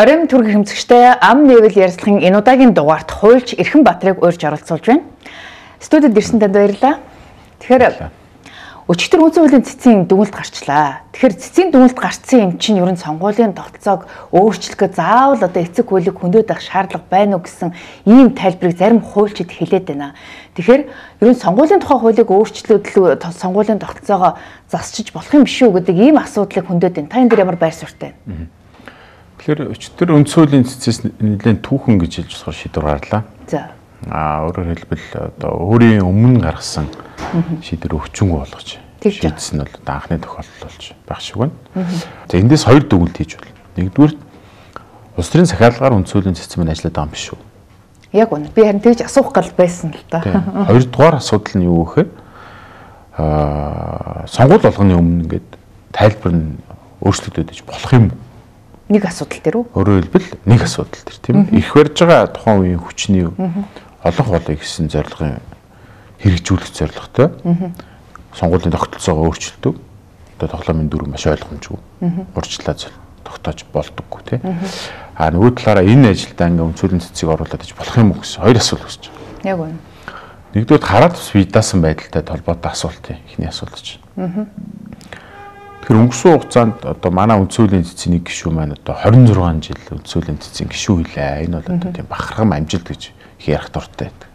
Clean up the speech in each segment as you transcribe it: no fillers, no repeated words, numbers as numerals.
Оройн төргийн хэмцэгчтэй ам нэвэл ярилцлагын энэ удаагийн дугаарт хуульч Эрхэн Батрыг урьж оролцуулж байна. Студид ирсэн танд баярлалаа. Тэгэхээр өчигдөр үндсэн хуулийн цэцгийн дүгнэлт гарчлаа. Тэгэхээр цэцгийн дүгнэлт гарцсан юм чинь ерөн сонгуулийн тогтолцоог өөрчлөхөд заавал одоо эцэг хуулийг хөндөд авах шаардлага байна уу гэсэн ийм тайлбарыг зарим хуульчид хэлээд байна. Тэгэхээр ерөн сонгуулийн тухай хуулийг өөрчлөлөө сонгуулийн тогтолцоогоо засчиж болох юм биш үү гэдэг ийм асуудлыг хөндөд байна. Та энэ дээр ямар байр суурьтай байна? Тэгэхээр өчтөр үндсэн хуулийн цэцээс нэлээд түүхэн гэж хэлж болохоор шийдвэр гарлаа. За. Өөрөөр хэлбэл одоо өөрийн өмнө гаргасан шийдвэр өвчнгүй болгож шийдсэн нь бол анхны тохиолдол болж байх шиг байна. За эндээс хоёр дүгнэлт хийж байна. Нэгдүгээр улс төрийн захиалгаар үндсэн хуулийн цэц маань ажиллаад байгаа юм биш үү? Яг үнэ. Би харин тэгж асуух гал байсан л да. Хоёрдугаар асуудал нь юу гэхээр сонгуул болгоны өмнө ингээд тайлбар нь өөрчлөгдөж иж болох юм. Нэг асуудал дээр үү? Өөрөөр хэлбэл нэг асуудал дээр тийм ээ. Их барьж байгаа тухайн үеийн хүчний олонх болыг гэсэн зорилгын хэрэгжүүлэх зорилготой сонгуулийн тогтолцоогоо өөрчилдөг. Одоо тоглоомын дүр маш ойлгомжгүй. Урьдчилаа тогтоож болдоггүй тийм. Нөгөө талаараа энэ ажилдаа ингээ үндсүүлийн цэцгийг оруулаад иж болох юм уу гэсэн хоёр асуулт үүсэж байна. Яг үнэ. Нэгдүгээр хараад бас видаасан байдалтай холбоотой асуулт ихний асуулт чинь. Тэгэхээр өнгөрсөн хугацаанд одоо манай үндсүүлийн цэцгийн нэг гишүүн маань одоо 26 жил үндсүүлийн цэцгийн гишүү хэлээ. Энэ бол одоо тийм бахархам амжилт гэж их ярих дуртай байдаг.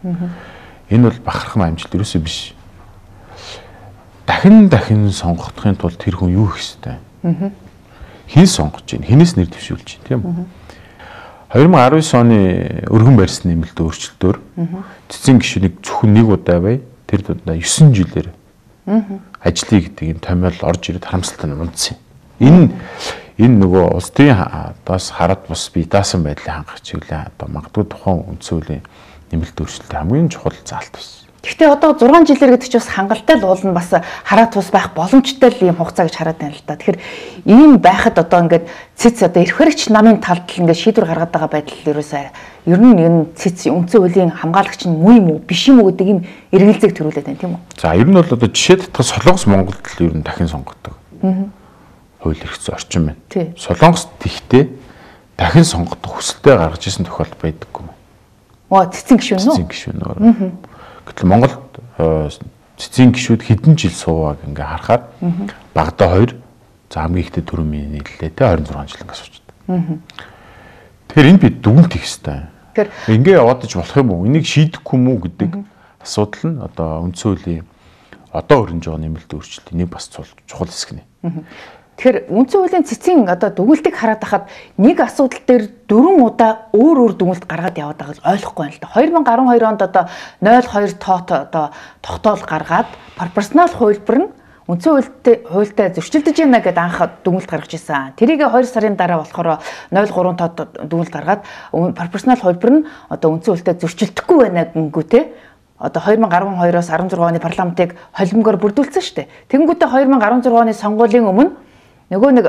Энэ бол бахархам амжилт ерөөсөө биш. Дахин сонгохдохын тулд тэр хүн юу хийх ёстой? Хэн сонгож байна? Хинээс нэр дэвшүүлж байна, тийм үү? 2019 оны өргөн барьсан нэмэлт өөрчлөлтөөр цэцгийн гишүүнийг зөвхөн нэг удаа бай. Тэр дундаа 9 жилээр ажлыг гэдэг энэ томьёол орж ирээд харамсалтай унцсан. Энэ нөгөө улс төрийн бас хараад бус бие даасан байдлын хангах чиглэлээ одоо магадгүй тухайн үндсэн хуулийн нэмэлт өөрчлөлт хамгийн чухал заалт байсан. Гэхдээ одоо 6 жилээр гэдэг чинь бас хангалттай л уул нь бас хараад тус байх боломжтой л юм хугацаа гэж хараад байна л да. Тэгэхээр ийм байхад одоо ингээд цэц одоо эрх баригч намын талд л ингээд шийдвэр гаргаад байгаа байдал ерөөсөө ер нь энэ цэц үндсэн хуулийн хамгаалагч нь муу юм уу биш юм уу гэдэг ийм эргэлзээг төрүүлээд байна тийм үү? За ер нь бол одоо жишээ татах Солонгос Монголд л ер нь дахин сонгодог. Хууль эрх зүйн орчин байна. Солонгост тэгтээ дахин сонгох хүсэлтэд гаргаж ирсэн тохиолдол байдаггүй юм. Цэцэн гишүүн үү? Цэцэн гишүүн. Гэтэл Монголд цэцгийн гишүүд хэдэн жил суугааг ингээ харахаар багада 2 за хамгийн ихтэй 4 минут нийллээ те 26 жил ингээ суучдаг. Тэгэхээр энэ бид дүгнэлт хийх хэрэгтэй. Ингээ яваад иж болох юм уу? Энийг шийдэхгүй юм уу гэдэг асуудал нь одоо үндсэн хуулийн одоо өрнөж байгаа нэмэлт өөрчлөлтийн нэг бас чухал хэсэг нэ. Тэгэхээр үндсэн хуулийн цэцгийн одоо дүгнэлтийг хараад хахад нэг асуудал дээр 4 удаа өөр дүгнэлт гаргаад яваад байгааг ойлгохгүй байна л да. 2012 онд одоо 02 тоот одоо тогтоол гаргаад пропорционал хувилбар нь үндсэн хуультай зөрчилдөж байна гэдээ анх дүгнэлт гаргаж ирсэн. Тэрийг 2 сарын дараа болохоор 03 тоот дүгнэлт гаргаад пропорционал хувилбар нь одоо үндсэн хуультай зөрчилдөхгүй байна гингүү те. Одоо 2012-оос 16 оны парламентыг холимгоор бүрдүүлсэн шүү дээ. Тэнгүүтээ 2016 оны сонгуулийн өмнө нөгөө нэг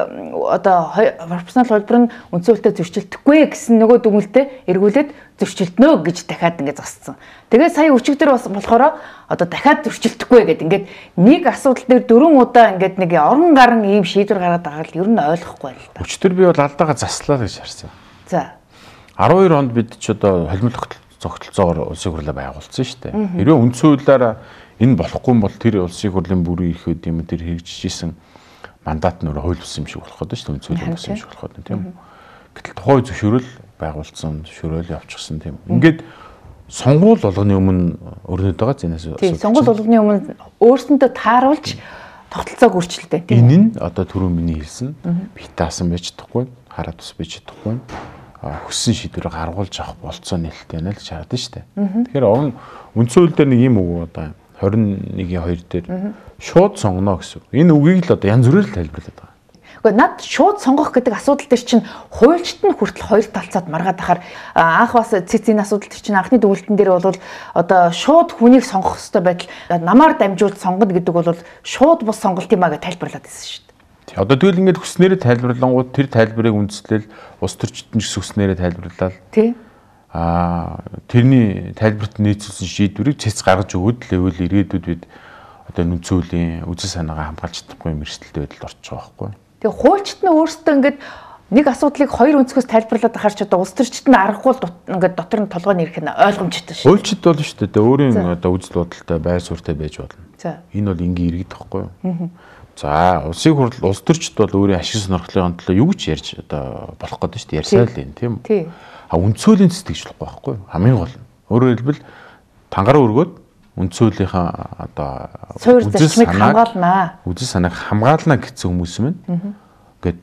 одоо пропорционал хувилбар нь үндсэн хуультай зөрчилдөхгүй гэсэн нөгөө дүгнэлтэд эргүүлээд зөрчилднө гэж дахиад ингэ засцсан. Тэгээд сая өчигдөр бас болохоор одоо дахиад зөрчилдөхгүй гэдэг ингээд нэг асуудал дээр 4 удаа ингээд нэг орон гарan ийм шийдвэр гаргаад байгаа л ер нь ойлгохгүй байл та. Өчигдөр би бол алдаага заслаа гэж харсан. За. 12 онд бид ч одоо холимол зогтолцоогоор улсын хурлаа байгуулсан шүү дээ. Хэрвээ үндсэн хуулиараа энэ болохгүй бол тэр улсын хурлын бүрийн эрх үд юм тэр хэрэгжижсэн мандат нь өөрөө хууль бус юм шиг болох гэдэг шүү дээ. Үндсэн хууль бус юм шиг болох гэдэг тийм үү. Гэтэл тухайн зөвшөөрөл байгуулсан, зөвшөөрөл явуулчихсан тийм. Ингээд сонгуул болгоны өмнө өрнөд байгаа зэнээс. Тийм, сонгуул болгоны өмнө өөрсөндөө тааруулж тогтолцоог өөрчилтэй тийм. Энэ нь одоо түрүү миний хэлсэн битаасан байж чадахгүй, хараад тус байж чадахгүй. Хүссэн шийдвэрээ гаргуулж авах болцоо нээлттэй байна л гэж хараад шүү дээ. Тэгэхээр үндсэн хууль дээр нэг юм үг одоо 21-2 дээр шууд сонгоно гэсэн. Энэ үгийг л одоо янз бүрээр тайлбарлаад байгаа. Гэхдээ над шууд сонгох гэдэг асуудал дээр чинь хуульчт нь хүртэл хоёр талцаад маргаад ахаар анх бас цэцгийн асуудал дээр чинь анхны дүгнэлтэн дээр бол одоо шууд хүнийг сонгох хэрэгтэй байтал намаар дамжуулж сонгоно гэдэг бол шууд бус сонголт юм а гэж тайлбарлаад байсан шүү дээ. Одоо тэгэл ингээд хүснээрээ тайлбарлангууд тэр тайлбарыг үндэслэл улс төрчдөн ч хүснээрээ тайлбарлалаа. Тий. Тэрний тайлбарт нийцүүлсэн шийдвэрийг цэц гаргаж өгөөд л ивэл ирээдүйд бид одоо үндсэн хуулийн үзэл санаагаа хамгаалж чадахгүй юм эрсдэлтэй байдалд орчих байгаа байхгүй. Тэгээ хуульчт нь өөрсдөө ингээд нэг асуудлыг хоёр өнцгөөс тайлбарлаад ахаар ч одоо улс төрчид нь аргагүй ингээд дотор нь толгойн ирэх нь ойлгомжтой шүү. Уйлчид болно шүү дээ. Өөрийн одоо үзэл бодолтой байр суурьтай байж болно. Энэ бол энгийн иргэд тахгүй юу? За, улсын хурл улс төрчид бол өөрийн ашиг сонирхлын төлөө юу гэж ярьж одоо болох гэдэг шүү дээ. Ярьсаа л юм тийм үү? Үндсөөллийн цэцэгжлэхгүй байхгүй юу? Хамгийн гол нь. Өөрөөр хэлбэл тангараа өргөөд үндсөөлийнхаа одоо үзэл хамгаалнаа. Үзэл санааг хамгаална гэсэн хүмүүс мэн. Ингээд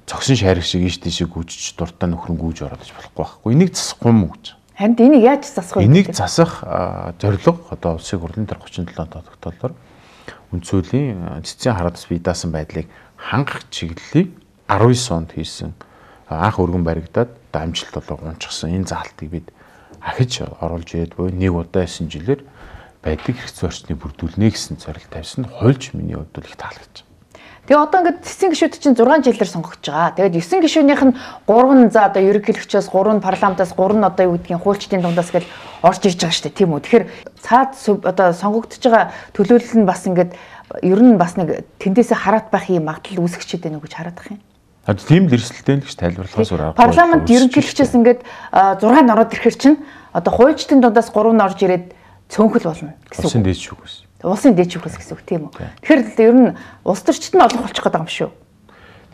цогсон шарих шиг ийш тийшээ гүйж дуртай нөхрөн гүйж ороод иж болохгүй байхгүй. Энийг засахгүй юм уу гэж. Харин энийг яаж засах вэ? Энийг засах зорилго одоо улсын хурлын дээр 37 тогтоолоор үндсөөллийн цэцэн хараадас бие даасан байдлыг хангах чиглэлийг 19 онд хийсэн анх өргөн баригдаад одоо амжилт болоо гунчсан энэ заалтыг бид ахиж оруулж ирээд буй нэг удаа 9 жилээр байдаг хэрэгцээ орчныг бүрдүүлнэ гэсэн зорилт тавьсан. Хуульч миний хувьд бол их таалагдж. Тэгээ одоо ингээд цэцэн гишүүд чинь 6 жилээр сонгогдож байгаа. Тэгээд 9 гишүүнийх нь 3 за одоо ерөнхийлөгчөөс 3 парламентаас 3 одоо юу гэдгийг хуульчдын дундаас гэл орж ирж байгаа шүү дээ, тийм үү. Тэгэхээр цаад одоо сонгогдож байгаа төлөөлөл нь бас ингээд ер нь бас нэг тэндээсээ хараат байх юм магадлал үүсгэж байгаа гэж хараад байгаа юм. Тийм л эрсдэлтэй л гэж тайлбарлахаас өөр аргагүй. Парламент ерөнхийлөгчөөс ингээд 6 нь ороод ирэхэр чинь одоо хуульчдын дундаас 3 нь орж ирээд цөөнхөл болно гэсэн үг. Улсын дээд шүүхээс. Улсын дээд шүүхээс гэсэн үг тийм үү. Тэгэхээр ер нь улс төрчид нь олох болчих гэдэг юм шүү.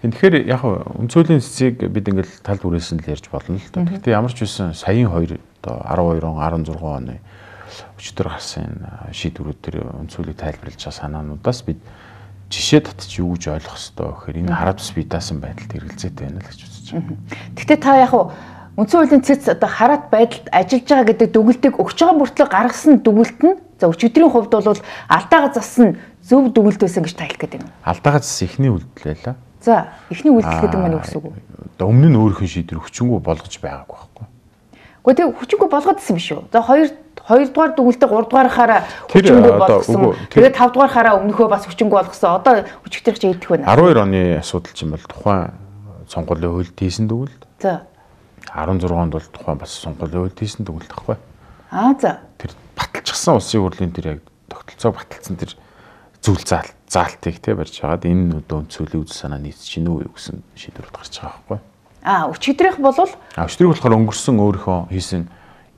Тэгэхээр яг үндсөөллийн цэцгийг бид ингээл тал бүрээсэн л ярьж болно л доо. Гэхдээ ямар ч үсэн саяын 2 одоо 12 он 16 оны өчтөр гарсан шийдвэрүүд төр үндсөөлийг тайлбарлаж байгаа санаануудаас бид жишээ татчих юу гэж ойлгох ёстой гэхээр энэ хараадас бие даасан байдалд хэрэгэлзээтэй байна л гэж үзэж байна. Гэхдээ та яг үндсэн хуулийн цэц одоо хараат байдалд ажиллаж байгаа гэдэг дүгнэлтийг өгч байгаа мөртлөө гаргасан дүгнэлт нь за өчигдрийн хувьд бол алдаагаа зассан зөв дүгнэлт байсан гэж тайлх гэдэг юм. Алдаагаа зассан эхний үйлдэл байлаа. За, эхний үйлдэл гэдэг нь юу гэсэн үг вэ? Одоо өмнө нь өөрийнх нь шийдвэр хүчингү болгож байгаагүй байхгүй. Гэхдээ тэг хүчингү болгоод ирсэн биш үү? За 2 дугаар дүгнэлтээ 3 дугаарахаараа хүчингү болгосон. Тэгээд 5 дугаарахаараа өмнөхөө бас хүчингү болгосон. Одоо өчигдрийнх чинь идэх байна. 12 оны асуудал чинь бол тухайн сонгуулийн хуульд хийсэн дүгнэлт. За 16 онд бол тухайн бас сонгуулийн хуульд хийсэн дүгнэлт байхгүй. За. Тэр баталчихсан улсын хурлын тэр яг тогтолцоог баталсан тэр зүйл заалтыг те барьж хагаад энэ одоо үндсөөллийн үзэл санаа нийцэж чинь үү гэсэн шийдвэрүүд гарч байгаа байхгүй. Өчигдрийнх бол өчигдрийнх болохоор өнгөрсөн өөрийнхөө хийсэн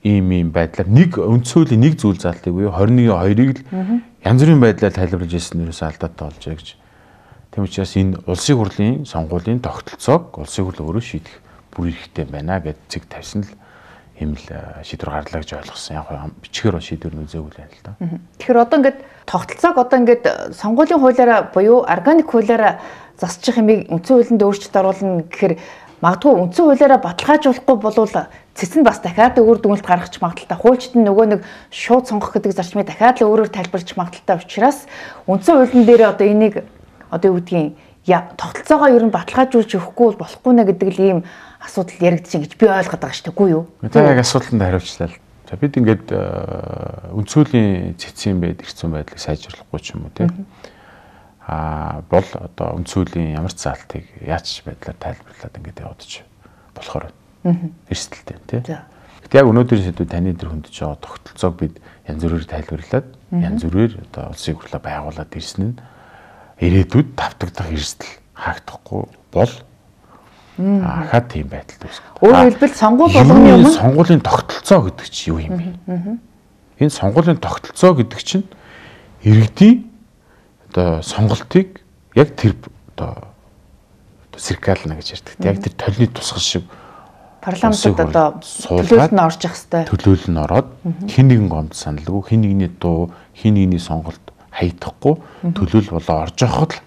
ийм байдлаар нэг үндсөөллийн нэг зүйл заалтыг буюу 21-2-ыг л янз бүрийн байдлаар тайлбарлаж ирсэн нэрээс алдаатай болж байгаа гэж. Тийм учраас энэ улсын хурлын сонгуулийн тогтолцоог улсын хурл өөрөө шийдэх бүр хэрэгтэй байна гэж цэг тавьсан л юм л шийдвэр гарлаа гэж ойлгосон. Яг бичгээр шийдвэр нь үзээгүй л байна л да. Тэгэхээр одоо ингээд тогтолцоог одоо ингээд сонгуулийн хуулиараа буюу органик хуулиараа засчих юмыг үндсэн хуулинд өөрчлөлт оруулна гэхээр магадгүй үндсэн хуулиараа баталгаажуулахгүй болвол цэцэн бас дахиад өөр дүгнэлт гаргах магадaltaй. Хуульчид нь нөгөө нэг шууд сонгох гэдэг зарчмыг дахиад л өөрөөр тайлбарлаж магадaltaй учраас үндсэн хуулийн дээр одоо энийг одоо юу гэдгийг тогтолцоогоо ер нь баталгаажуулж өгөхгүй болохгүй нэ гэдэг л ийм асуудал яригдчихин гэж би ойлгоод байгаа шүү дээ. Үгүй юу? За яг асуултанд хариулчлаа л. За бид ингээд үндсөөллийн цэцэн хэрэгцээ байдлыг сайжруулахгүй ч юм уу тийм. Бол одоо үндсөөллийн ямар ч заалтыг яаж байдлаар тайлбарлаад ингээд явуудаж болохоор эрсдэлтэй тийм. Гэтэл яг өнөөдрийн сэдвүүд таны дээр хөндөж байгаа тогтолцоог бид янз бүрээр тайлбарлаад янз бүрээр одоо улсын хурлаа байгуулад ирсэн нь ирээдүйд давтагдах эрсдэл хаагдахгүй бол хаад тийм байдалд үүсгэж. Өөрөөр хэлбэл сонгуул болгоны өмнө сонгуулийн тогтолцоо гэдэг чинь юу юм бэ? Энэ сонгуулийн тогтолцоо гэдэг чинь иргэдийн одоо сонголтыг яг тэр одоо сэркална гэж ярьдаг. Яг тэр толны тусгал шиг парламентод одоо төлөөлөл нь орж явах хэвээр. Төлөөлөл нь ороод хэн нэгэн гомд саналгүй, хэн нэгний дуу, хэн нэгний сонголт хаydахгүй төлөөлөл болоо орж явахд л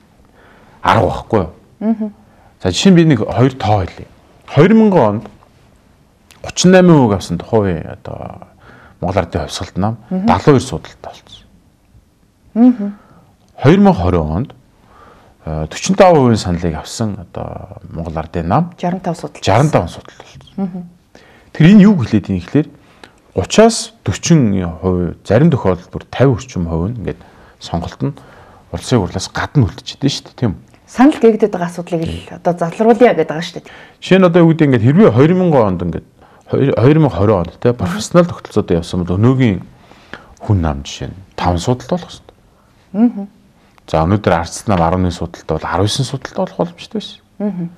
арга байхгүй юу? За жишээ нь би нэг 2 тоо хэлье. 2000 онд 38% авсан хувийн одоо Монгол Ардын хувьсгалт нам 72 судалтай болсон. 2020 онд 45% саналыг авсан одоо Монгол Ардын нам 65 судалт болсон. Тэр энэ юу хэлээд юм ихлээр 30-аас 40% зарим тохиолдолд бүр 50 орчим хувь нь ингээд сонголт нь улсын хурлаас гадна үлдчихдээ шүү дээ тийм үү? Санал гээгдэт байгаа асуудлыг л одоо залруулъя гэдэг байгаа шүү дээ. Жишээ нь одоо юу гэдэг ингээд хэрвээ 2000 онд ингээд 2020 онд те профессионал тогтолцоод явсан бол өнөөгийн хүн нам жишээ нь 5 судалт болох хэрэгтэй. За өнөөдөр ардс нам 11 судалт бол 19 судалт болох боломжтой байсан.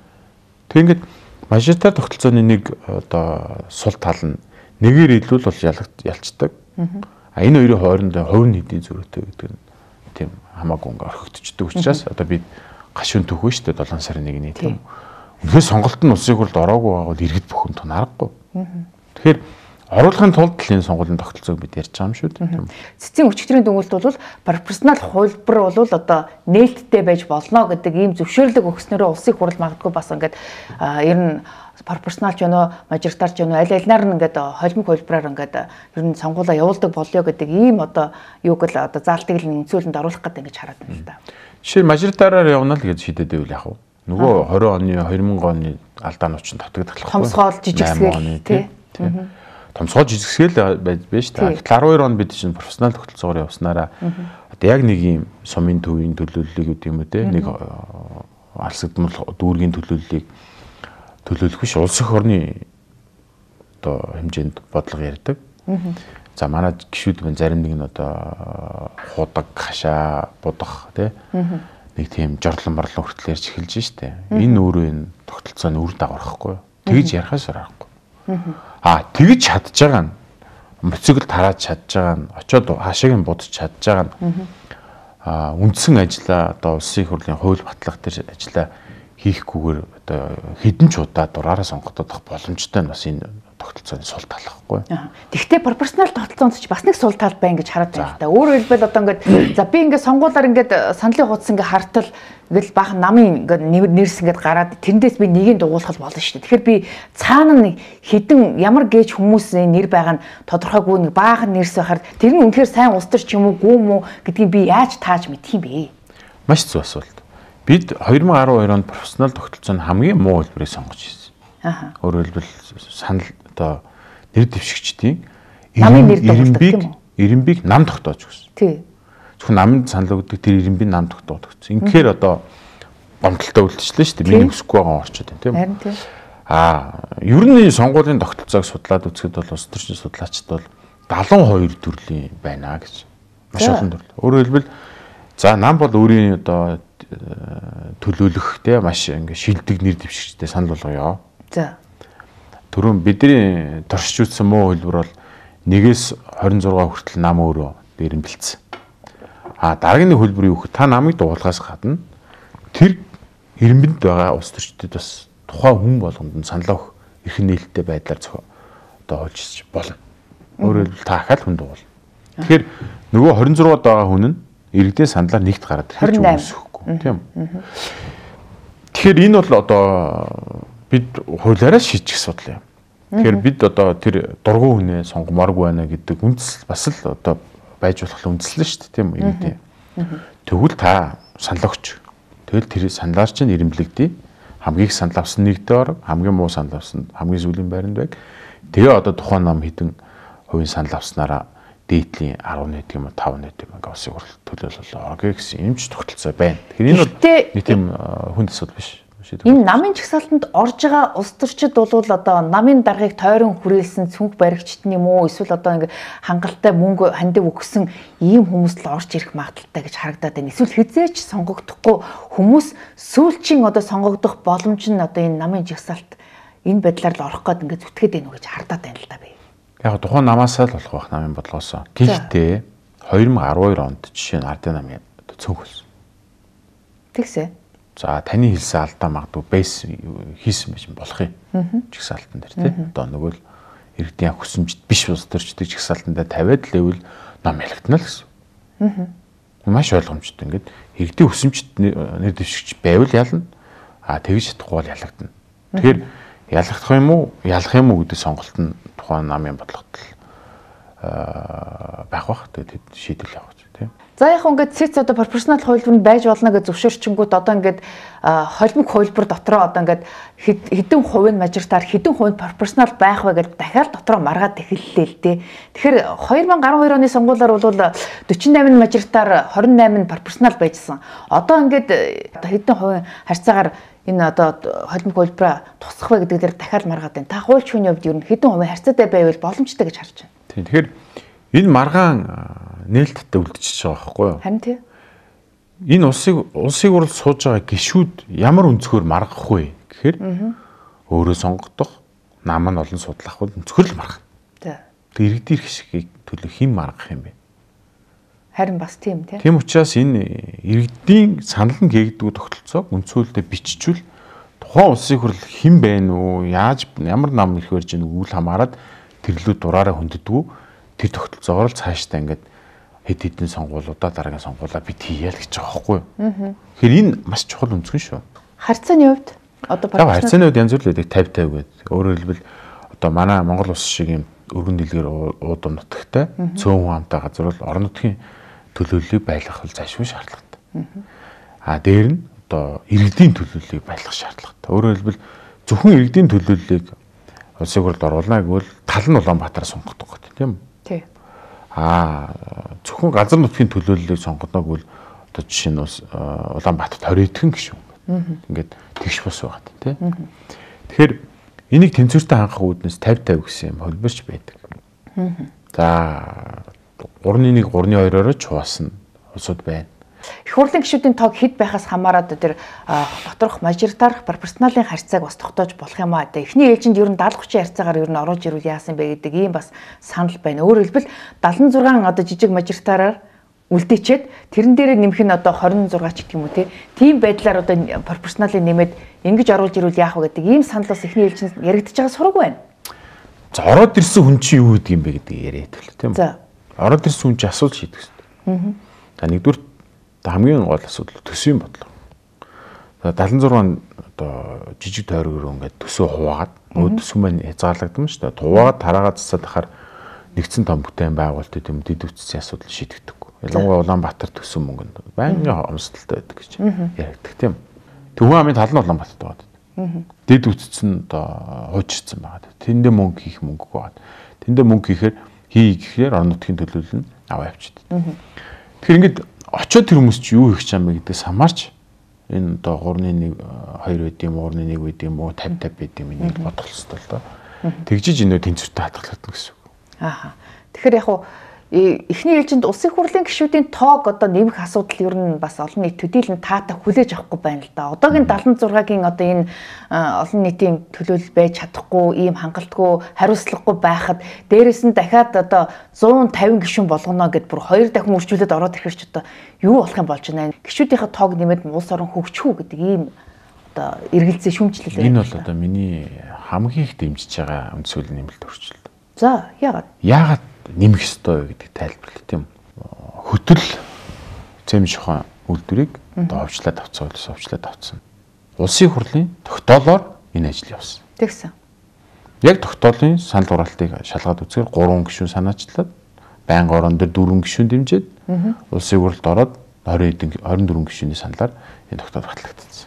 Тэг ингээд мажоритар тогтолцооны нэг одоо сул тал нь нэгээр илүү бол ялцдаг. А энэ хоёрын хооронд хувь нь хэдийн зөрүүтэй гэдэг нь тийм хамаагүй ингээ орхигдчихдаг учраас одоо бид гашуун төхөө шүү дээ 7 сарын 1-ний тийм. Үнэхээр сонголт нь улсын хурлд ороогүй байгавал иргэд бухимд тунаарахгүй. Тэгэхээр оруулахын тулд энэ сонгуулийн тогтолцоог бид ярьж байгаа юм шүү дээ. Цэцгийн өчигдрийн дүгнэлт бол пропорционал хувилбар бол одоо нээлттэй байж болно гэдэг ийм зөвшөөрлөг өгснөөрөө улсын хурл магадгүй бас ингээд ер нь пропорционалч өнөө мажоритарч өнөө аль алинаар нь ингээд холимог хувилбараар ингээд ер нь сонгуулаа явуулдаг болёо гэдэг ийм одоо юуг л одоо заалтыг л нэмцүүлэнд оруулах гэдэг ингэж хараад байна л да. Жишээ нь мажоритараар явна л гэж шийдээд байвал яах вэ? Нөгөө 20 оны алдаанууд чинь татагдах байхгүй. Томсгоол жижигсгэл тийм. Томсгоо жижигсгэл байж та. 12 он бид чинь профессионал тогтолцоогоор явснараа одоо яг нэг юм сумын төвийн төлөөллийг гэдэг юм үү те нэг алсагдмал дүүргийн төлөөллийг төлөөлөх биш улс их орны одоо хэмжээнд бодлого ярьдаг. За манай гишүүд мэн зарим нэг нь одоо худаг, хашаа, будах те нэг тийм жорлон морлон хүртэл ярьж эхэлж штэ. Энэ өөрөө энэ тогтолцооны үр дагавар байхгүй. Тэгж ярихаас аргагүй. Тэгж чадж байгаа нь моцигл тарааж чадж байгаа нь очоод хашааг нь будаж чадж байгаа нь үндсэн ажилла одоо улсын их хурлын хууль батлах дээр ажилла хийхгүйгээр одоо хэдэн ч удаа дураараа сонгогдох боломжтой нь бас энэ тогтолцооны сул тал байхгүй. Тэгвэл пропорционал тогтолцоонд ч бас нэг сул тал байна гэж хараад байна л да. Өөрөөр хэлбэл одоо ингээд за би ингээд сонгуулаар ингээд сандлын хуудас ингээд хартал ингээл баахан намын ингээд нэрс ингээд гараад тэндээс би нэгийг дугуулах болно шүү дээ. Тэгэхээр би цаана нэг хідэн ямар гээж хүмүүсийн нэр байгаа нь тодорхойгүй нэг баахан нэрс байхаар тэр нь үнэхээр сайн улс төр ч юм уу гүм үү гэдгийг би яаж тааж мэдх юм бэ? Маш зөв асуулт. Бид 2012 онд профессионал тогтолцооны хамгийн муу хэлбэрийг сонгож ирсэн. Өөрөөр хэлбэл санал одоо нэр дэвшигчдийн ирэмбийг нам тогтоож өгсөн. Тий. Зөвхөн намын санал өгдөг тэр ирэмбийг нам тогтоож өгсөн. Инхээр одоо гомдолтой үйлчлээ шүү дээ. Миний өсөхгүй байгаа орчод байна тийм үү? Харин тий. Ер нь сонгуулийн тогтолцоог судлаад үзэхэд бол улс төрчийн судлаачид бол 72 төрлийн байна гэж. Маш олон төрөл. Өөрөөр хэлбэл за нам бол өөрийн одоо төлөөлөх те маш ингээ шилдэг нэр дэвшигчтэй санал болгоё. За. Түрүүн бидний туршиж үзсэн муу хэлбэр бол 1-ээс 26 хүртэл нам өөрөө дээрэмбэлцсэн. Дараагийн хөлбөр юу гэхээр та намыг дуулахаас гадна тэр ирэмбэнд байгаа улс төрчдөд бас тухайн хүн болгонд нь санал өгөх эрх нээлттэй байдлаар одоо олж болно. Өөрөөр хэлбэл та ахаал хүн дуул. Тэгэхээр нөгөө 26-д байгаа хүн нь иргэдийн саналаар нэгт гараад ирж өгөхгүй тийм үү. Тэгэхээр энэ бол одоо бид хуулиараа шийдчих асуудал юм. Тэгэхээр бид одоо тэр дургуй хүнээ сонгомооргүй байна гэдэг үндэслэл бас л одоо байж болох үндэслэл шүү дээ тийм үү иргэдийн. Тэгвэл та санал өгч. Тэгэл тэр саналаар чинь ирэмблэгдээ. Хамгийн их санал авсан нэгтэй орог, хамгийн муу санал авсан хамгийн сүүлийн байранд байг. Тэгээ одоо тухайн нам хэдэн хувийн санал авснараа дээдлийн 10 гэдэг юм уу 5 гэдэг юм ингээ улсын хурл төлөөлөл орго гэсэн юм ч тогтолцоо байна. Тэгэхээр энэ бол нэг тийм хүнд асуудал биш. Энэ намын чагсаалтанд орж байгаа улс төрчид бол одоо намын даргаыг тойрон хүрээлсэн цүнх баригчт юм уу эсвэл одоо ингээ хангалттай мөнгө хандив өгсөн ийм хүмүүс л орж ирэх магадaltaй гэж харагдаад байна. Эсвэл хизээч сонгогдохгүй хүмүүс сүүлчийн одоо сонгогдох боломж нь одоо энэ намын чагсаалт энэ байдлаар л орох гээд ингээ зүтгээд байна уу гэж хардаад байна л да би. Яг тухайн намаасаа л болох байх намын бодлогоосоо. Гэхдээ 2012 онд жишээ нь ардын намын цүнх болсон. Тэгсэ. За таны хэлсэн алдаа магадгүй бейс хийсэн байж болох юм. Чигсаалтан дээр тий. Одоо нөгөө л иргэдийн хүсэмжт биш улс төрчдөг чигсаалтан дээр тавиад л ивэл нам ялагдана л гэсэн. Маш ойлгомжтой. Ингээд иргэдийн хүсэмжт нэр дэвшигч байвал ялна. Тэгж чадахгүй бол ялагдана. Тэгэхээр ялагдах юм уу, ялах юм уу гэдэг сонголт нь тухайн намын бодлогот байх бах. Тэгээд шийдэл явах тийм. За яг ингээд цэц одоо пропорционал хувилбар нь байж болно гэж зөвшөөрчингүүд одоо ингээд холимог хувилбар дотроо одоо ингээд хэдэн хувийн мажоритар хэдэн хувийн пропорционал байх вэ гэж дахиад дотроо маргаад эхэллээ л дээ. Тэгэхээр 2012 оны сонгуулиар бол 48 мажоритар 28 пропорционал байжсан. Одоо ингээд хэдэн хувийн харьцаагаар энэ одоо холимог хувилбараа тусах вэ гэдэг дээр дахиад маргаад байна. Та хуульч хүний хувьд ер нь хэдэн хувийн харьцаатай байвал боломжтой гэж харж байна. Тийм. Тэгэхээр энэ маргаан нээлттэй үлдчихэж байгаа байхгүй юу? Харин тийм. Энэ улсыг урал сууж байгаа гишүүд ямар өнцгөр маргах вэ гэхээр өөрөө сонгогдох, нам нь олон судлах бол өнцгөр л маргах. За. Тэг иргэдийн хэсгийг төлөө хэн маргах юм бэ? Харин бас тийм тий. Тийм учраас энэ иргэдийн санал нь гээгддэг тогтолцоог үндсүүлдэ биччихвэл тухайн улсын хурл хэн байна уу, ямар нам ирэх барьж байгааг үл хамааран тэрлүү дураараа хөнддөггүй тэр тогтолцоогоор л цаашдаа ингээд хэд хэдэн сонгуулиудаа дараагийн сонгуулаа бид хийя л гэж байгаа байхгүй юу. Тэгэхээр энэ маш чухал өнцгөн шүү. Харьцааны хувьд одоо харьцааны хувьд янз бүр л байдаг 50-50 гэдэг. Өөрөөр хэлбэл одоо манай Монгол улс шиг юм өргөн дэлгэр уудам нутагтай цөөн хүн амтай газар бол орон нутгийн төлөөллийг байлгах бол зайлшгүй шаардлагатай. Дээр нь одоо иргэдийн төлөөллийг байлгах шаардлагатай. Өөрөөр хэлбэл зөвхөн иргэдийн төлөөллийг улсын хурлд оруулна гэвэл тал нь Улаанбаатар сонгогдох гэдэг тийм үү? Тий. Зөвхөн газар нутгийн төлөөллийг сонгоно гэвэл одоо жишээ нь Улаанбаатарт 20 эдхэн гишүүн ингээд тэгш бус байгаа тийм. Тэгэхээр энийг тэнцвэртэй хангах үүднээс 50-50 гэсэн юм холбооч байдаг. За 3-1 3-2-ороо чуусна улсууд байна. Их хурлын гишүүдийн тоог хэд байхаас хамаарат тэр доторх мажоритар пропорционалын харьцааг бас тогтоож болох юм аа. Эхний ээлжинд ер нь 70-30 харьцаагаар ер нь оруулж ирвэл яасан бэ гэдэг ийм бас санал байна. Өөрөөр хэлбэл 76 одоо жижиг мажоритараар үлдээчээд тэрэн дээрээ нэмэх нь одоо 26 ч гэх юм уу тийм байдлаар одоо пропорционалыг нэмээд ингэж оруулж ирвэл яах вэ гэдэг ийм санал бас эхний ээлжинд яригдж байгаа сураг байна. За ороод ирсэн хүн чинь юу гэдэг юм бэ гэдэг яриад хэлээ тийм үү? За. Ороод ирсэн хүн чинь асуулт шийдэх хэрэгтэй. За нэгдүгээр хамгийн гол асуудал төсвийн бодлого. За 76 одоо жижиг тойрогоор ингээд төсөө хуваагаад өөд төсвөн маань хязгаарлагдсан шүү дээ. Хуваагаад тараагаа засаад ахаар нэгдсэн том бүтээн байгуулалт гэм дэд үтцийн асуудал шийдэгдэггүй. Ялангуяа Улаанбаатар төсвөн мөнгөнд байнгын хомсдолтой байдаг гэж яригддаг тийм. Төвхөн амын тал нь Улаанбаатарт байгаа. Дэд үтц нь одоо хуучирсан байгаа. Тэндээ мөнгө хийх мөнгөгүй байгаа. Тэндээ мөнгө хийхээр гэхээр орон нутгийн төлөөлөл нь аваа явчихдаг. Тэгэхээр ингээд очоод тэр хүмүүс чи юу хийх гэж байгаа юм бэ гэдгээс хамаарч энэ одоо 3-1 2 байд юм уу 3-1 байд юм уу 50-50 байд юм энийг бодох хэрэгтэй л доо. Тэгжиж энэ тэнцвэртэй хадгалагдана гэсэн үг. Тэгэхээр яг хуу эхний ээлжинд улсын хурлын гишүүдийн тоог одоо нэмэх асуудал ер нь бас олон нийт төдийлөн таатай хүлээж авахгүй байна л да. Одоогийн 76-гийн одоо энэ олон нийтийн төлөөлөл байж чадахгүй, ийм хангалтгүй, хариуцлагагүй байхад дээрэс нь дахиад одоо 150 гишүүн болгоно гэд бүр 2 дахин үржүүлээд ороод ирэхэрч одоо юу болох юм болж байна. Гишүүдийнхээ тоог нэмээд улс орон хөгжих үү гэдэг ийм одоо эргэлзээ шүүмжлэл байна. Энэ бол одоо миний хамгийн их дэмжиж байгаа үндсүүл нэмэлт өөрчлөлт. За яагаад? Яагаад нэмэх ёстой гэдэг тайлбарлалт тийм. Хөтөл зэм шухан үйлдвэрийг одоо овчлаад авцсан. Улсын хурлын тогтоолоор энэ ажил явсан. Тэгсэн. Яг тогтоолын санал хураалтыг шалгаад үзэхээр 3 гишүүн санаачлаад байнга орон дээр 4 гишүүн дэмжиж улсын хурлд ороод 24 гишүүний саналаар энэ тогтоол батлагдсан.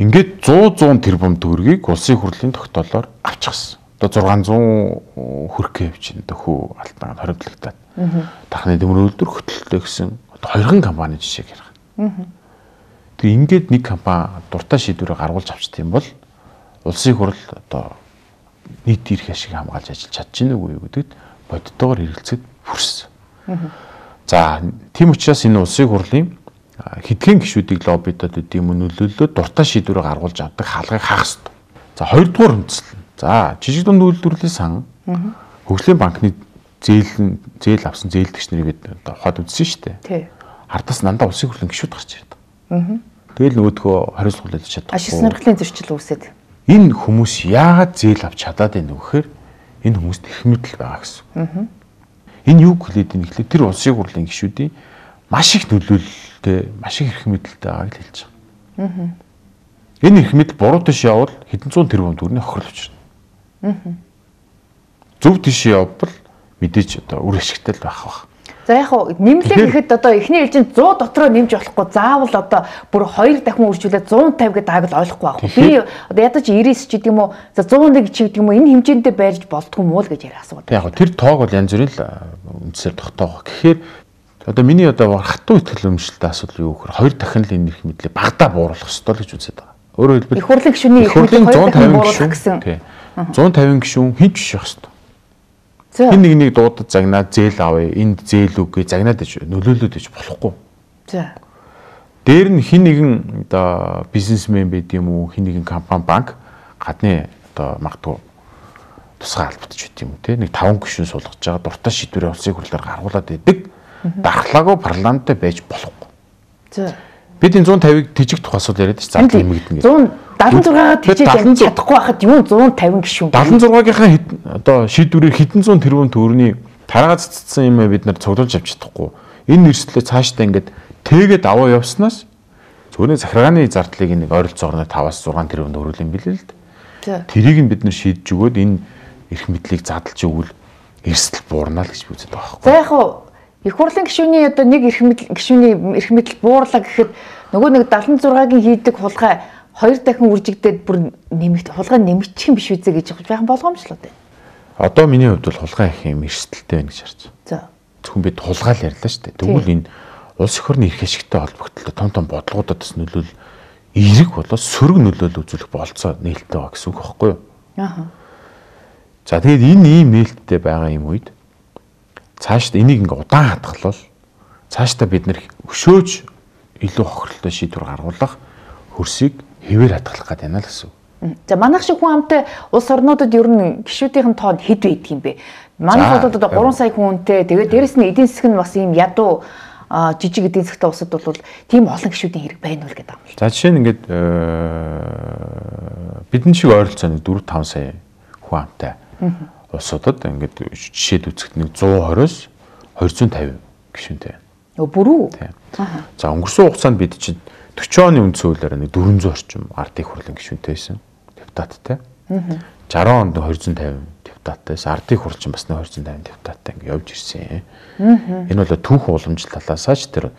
Ингээд 100 тэрбум төгрөгийг улсын хурлын тогтоолоор авчихсан. Одоо 600 хүрхээ явж энэ хүү алтан хоримтлагтаад дахны дэврэн үйлдвэр хөтөлтэй гэсэн одоо 2 компани жишээг ярих. Тэг ингээд нэг компани дуртай шийдвэрээ гаргуулж авчт юм бол улсын хурл одоо нийт эрх ашиг хамгаалж ажиллаж чадчихна уу гэдэгт бодтойгоор хэрэгэлцээд хүрсэн. За тийм учраас энэ улсын хурлын хэдхэн гишүүдийг лоббидод гэдэг юм нөлөөлөлөө дуртай шийдвэрээ гаргуулж авдаг хаалгыг хаах хэрэгтэй. За хоёрдугаар үндэслэл. За жижиг дунд үйлдвэрлэлийн сан хөгжлийн банкны зээл авсан зээлдэгч нарыг одоо ухаад үзсэн шүү дээ. Тий. Ардаас дандаа улсын хурлын гишүүд гарч ирдэг. Тэгэл нөгөөдгөө хариуцлага хийж чадахгүй. Ашиг сонирхлын зөрчил үүсээд. Энэ хүмүүс яагаад зээл авч чадаад байна вэ гэхээр энэ хүмүүст эрх мэдэл байгаа гэсэн. Энэ юу хэлээд ийм ихлэ тэр улсын хурлын гишүүдийн маш их нөлөөлөлтэй, маш их эрх мэдэлтэй байгааг хэлж байгаа. Энэ эрх мэдэл буруу тийш явбал хэдэн зуун тэрбум төгрөгийн хохирол учирна. Зөв тийш явбал мэдээж одоо үр ашигтай л байх бах. За яг хуу нэмлэг гэхэд одоо эхний ээлжинд 100 дотроо нэмж болохгүй заавал одоо бүр 2 дахин үржүүлээд 150 гэдэг аяг л ойлгохгүй байх. Би одоо ядаж 99 ч гэдэг юм уу за 101 ч гэдэг юм уу энэ хэмжээндээ байрж болдгүй муу л гэж яриа асуудаг. Яг тэр тоог бол янз бүрийн л үндсээр тогтоох. Тэгэхээр одоо миний одоо хатуу ихтгэл өмчлөлтөд асуудал юу гэхээр 2 дахин л энэ эрх мэдлийг багадаа бууруулах ёстой л гэж үзээд байгаа. Өөрөөр хэлбэл их хурлын гишүүний эрх мэдлийг 2 дахин бууруулах гэсэн. 150 гишүүн хэн ч биш байх ёстой. Хин нэг дуудад загнаад зээл авъя, энд зээл үгүй загнаад иж нөлөөлөд иж болохгүй. За. Дээр нь хин нэгэн одоо бизнесмен байд юм уу, хин нэгэн компани, банк гадны одоо магадгүй тусгай албадж байт юм уу те. Нэг 5 гишүүн суулгаж байгаа дуртай шийдвэрээ улсын хурлаар гаргуулад байдаг. Дархлаагүй парламенттай байж болохгүй. За. Бид энэ 150-ыг тижиг тухайсууд яриад чинь зардал нэмэгдэнэ. 176-аад тижиж чадахгүй байхад юу 150 гишүүн. 76-гийн одоо шийдвэрээр хэдэн зуун тэрбум төгрөгийн тараагаа цэцсэн юм бид нар цуглуулж авч чадахгүй. Энэ нэрслээ цаашдаа ингээд тэгээд аваа явснаас зөвхөн захиргааны зардлыг нэг ойролцоогоор 5-6 тэрбум өрүүлэн билээ л дээ. Тэрийг нь бид нар шийдэж өгөөд энэ эрх мэдлийг задлж өгвөл эрсдэл буурна л гэж би үздэг байгаа байхгүй. За яг их хурлын гишүүний одоо нэг гишүүний эрх мэдэл буурлаа гэхэд нөгөө нэг 76-гийн хийдэг хулгай 2 дахин үржигдээд бүр хулгай нэмэгдэх юм биш үзээ гэж байх болгоомжлоо дээ. Одоо миний хувьд бол хулгай их юм эрсдэлтэй байна гэж харж байна. За. Зөвхөн бид хулгайл ярьлаа шүү дээ. Тэгвэл энэ улс эх орны эрх ашигтай холбогдлоо том бодлогуудад бас нөлөөл эерэг болоод сөрөг нөлөөлөл үзүүлэх болцоо нээлттэй байгаа гэсэн үг байхгүй юу? Аа. За тэгээд энэ ийм нээлттэй байгаа юм үед цаашдаа энийг ингээ удаан хатгалвал цаашдаа бид нэр өшөөж илүү хохирлолтой шийдвэр гаргуулах хөрсийг хэвээр хатгалах гэдэг юм л гэсэн. За манайх шиг хүн амтай улс орнуудад ер нь гишүүдийн тоо хэд байдаг юм бэ? Манайх бол одоо 3 сая хүнтэй тэгээд дээрэс нь эдийн засаг нь бас ийм ядуу жижиг эдийн засгтай улсад бол тийм олон гишүүдийн хэрэг байна уу гэдэг юм. За жишээ нь ингээд бидэн шиг ойролцоо нэг 4-5 сая хүн амтай улсуудад ингээд жишээд үзэхэд нэг 120-оос 250 гишүүнтэй байна. Бүрүү. За өнгөрсөн хугацаанд бид чинь 40 оны үндсэн хуулиараа нэг 400 орчим ардын хурлын гишүүнтэй байсан. Депутаттай. 60 онд 250 депутаттай байсан. Ардын хурл чинь бас 250 депутаттай ингээд явж ирсэн. Энэ бол түүх уламжлал талаасаа ч тэр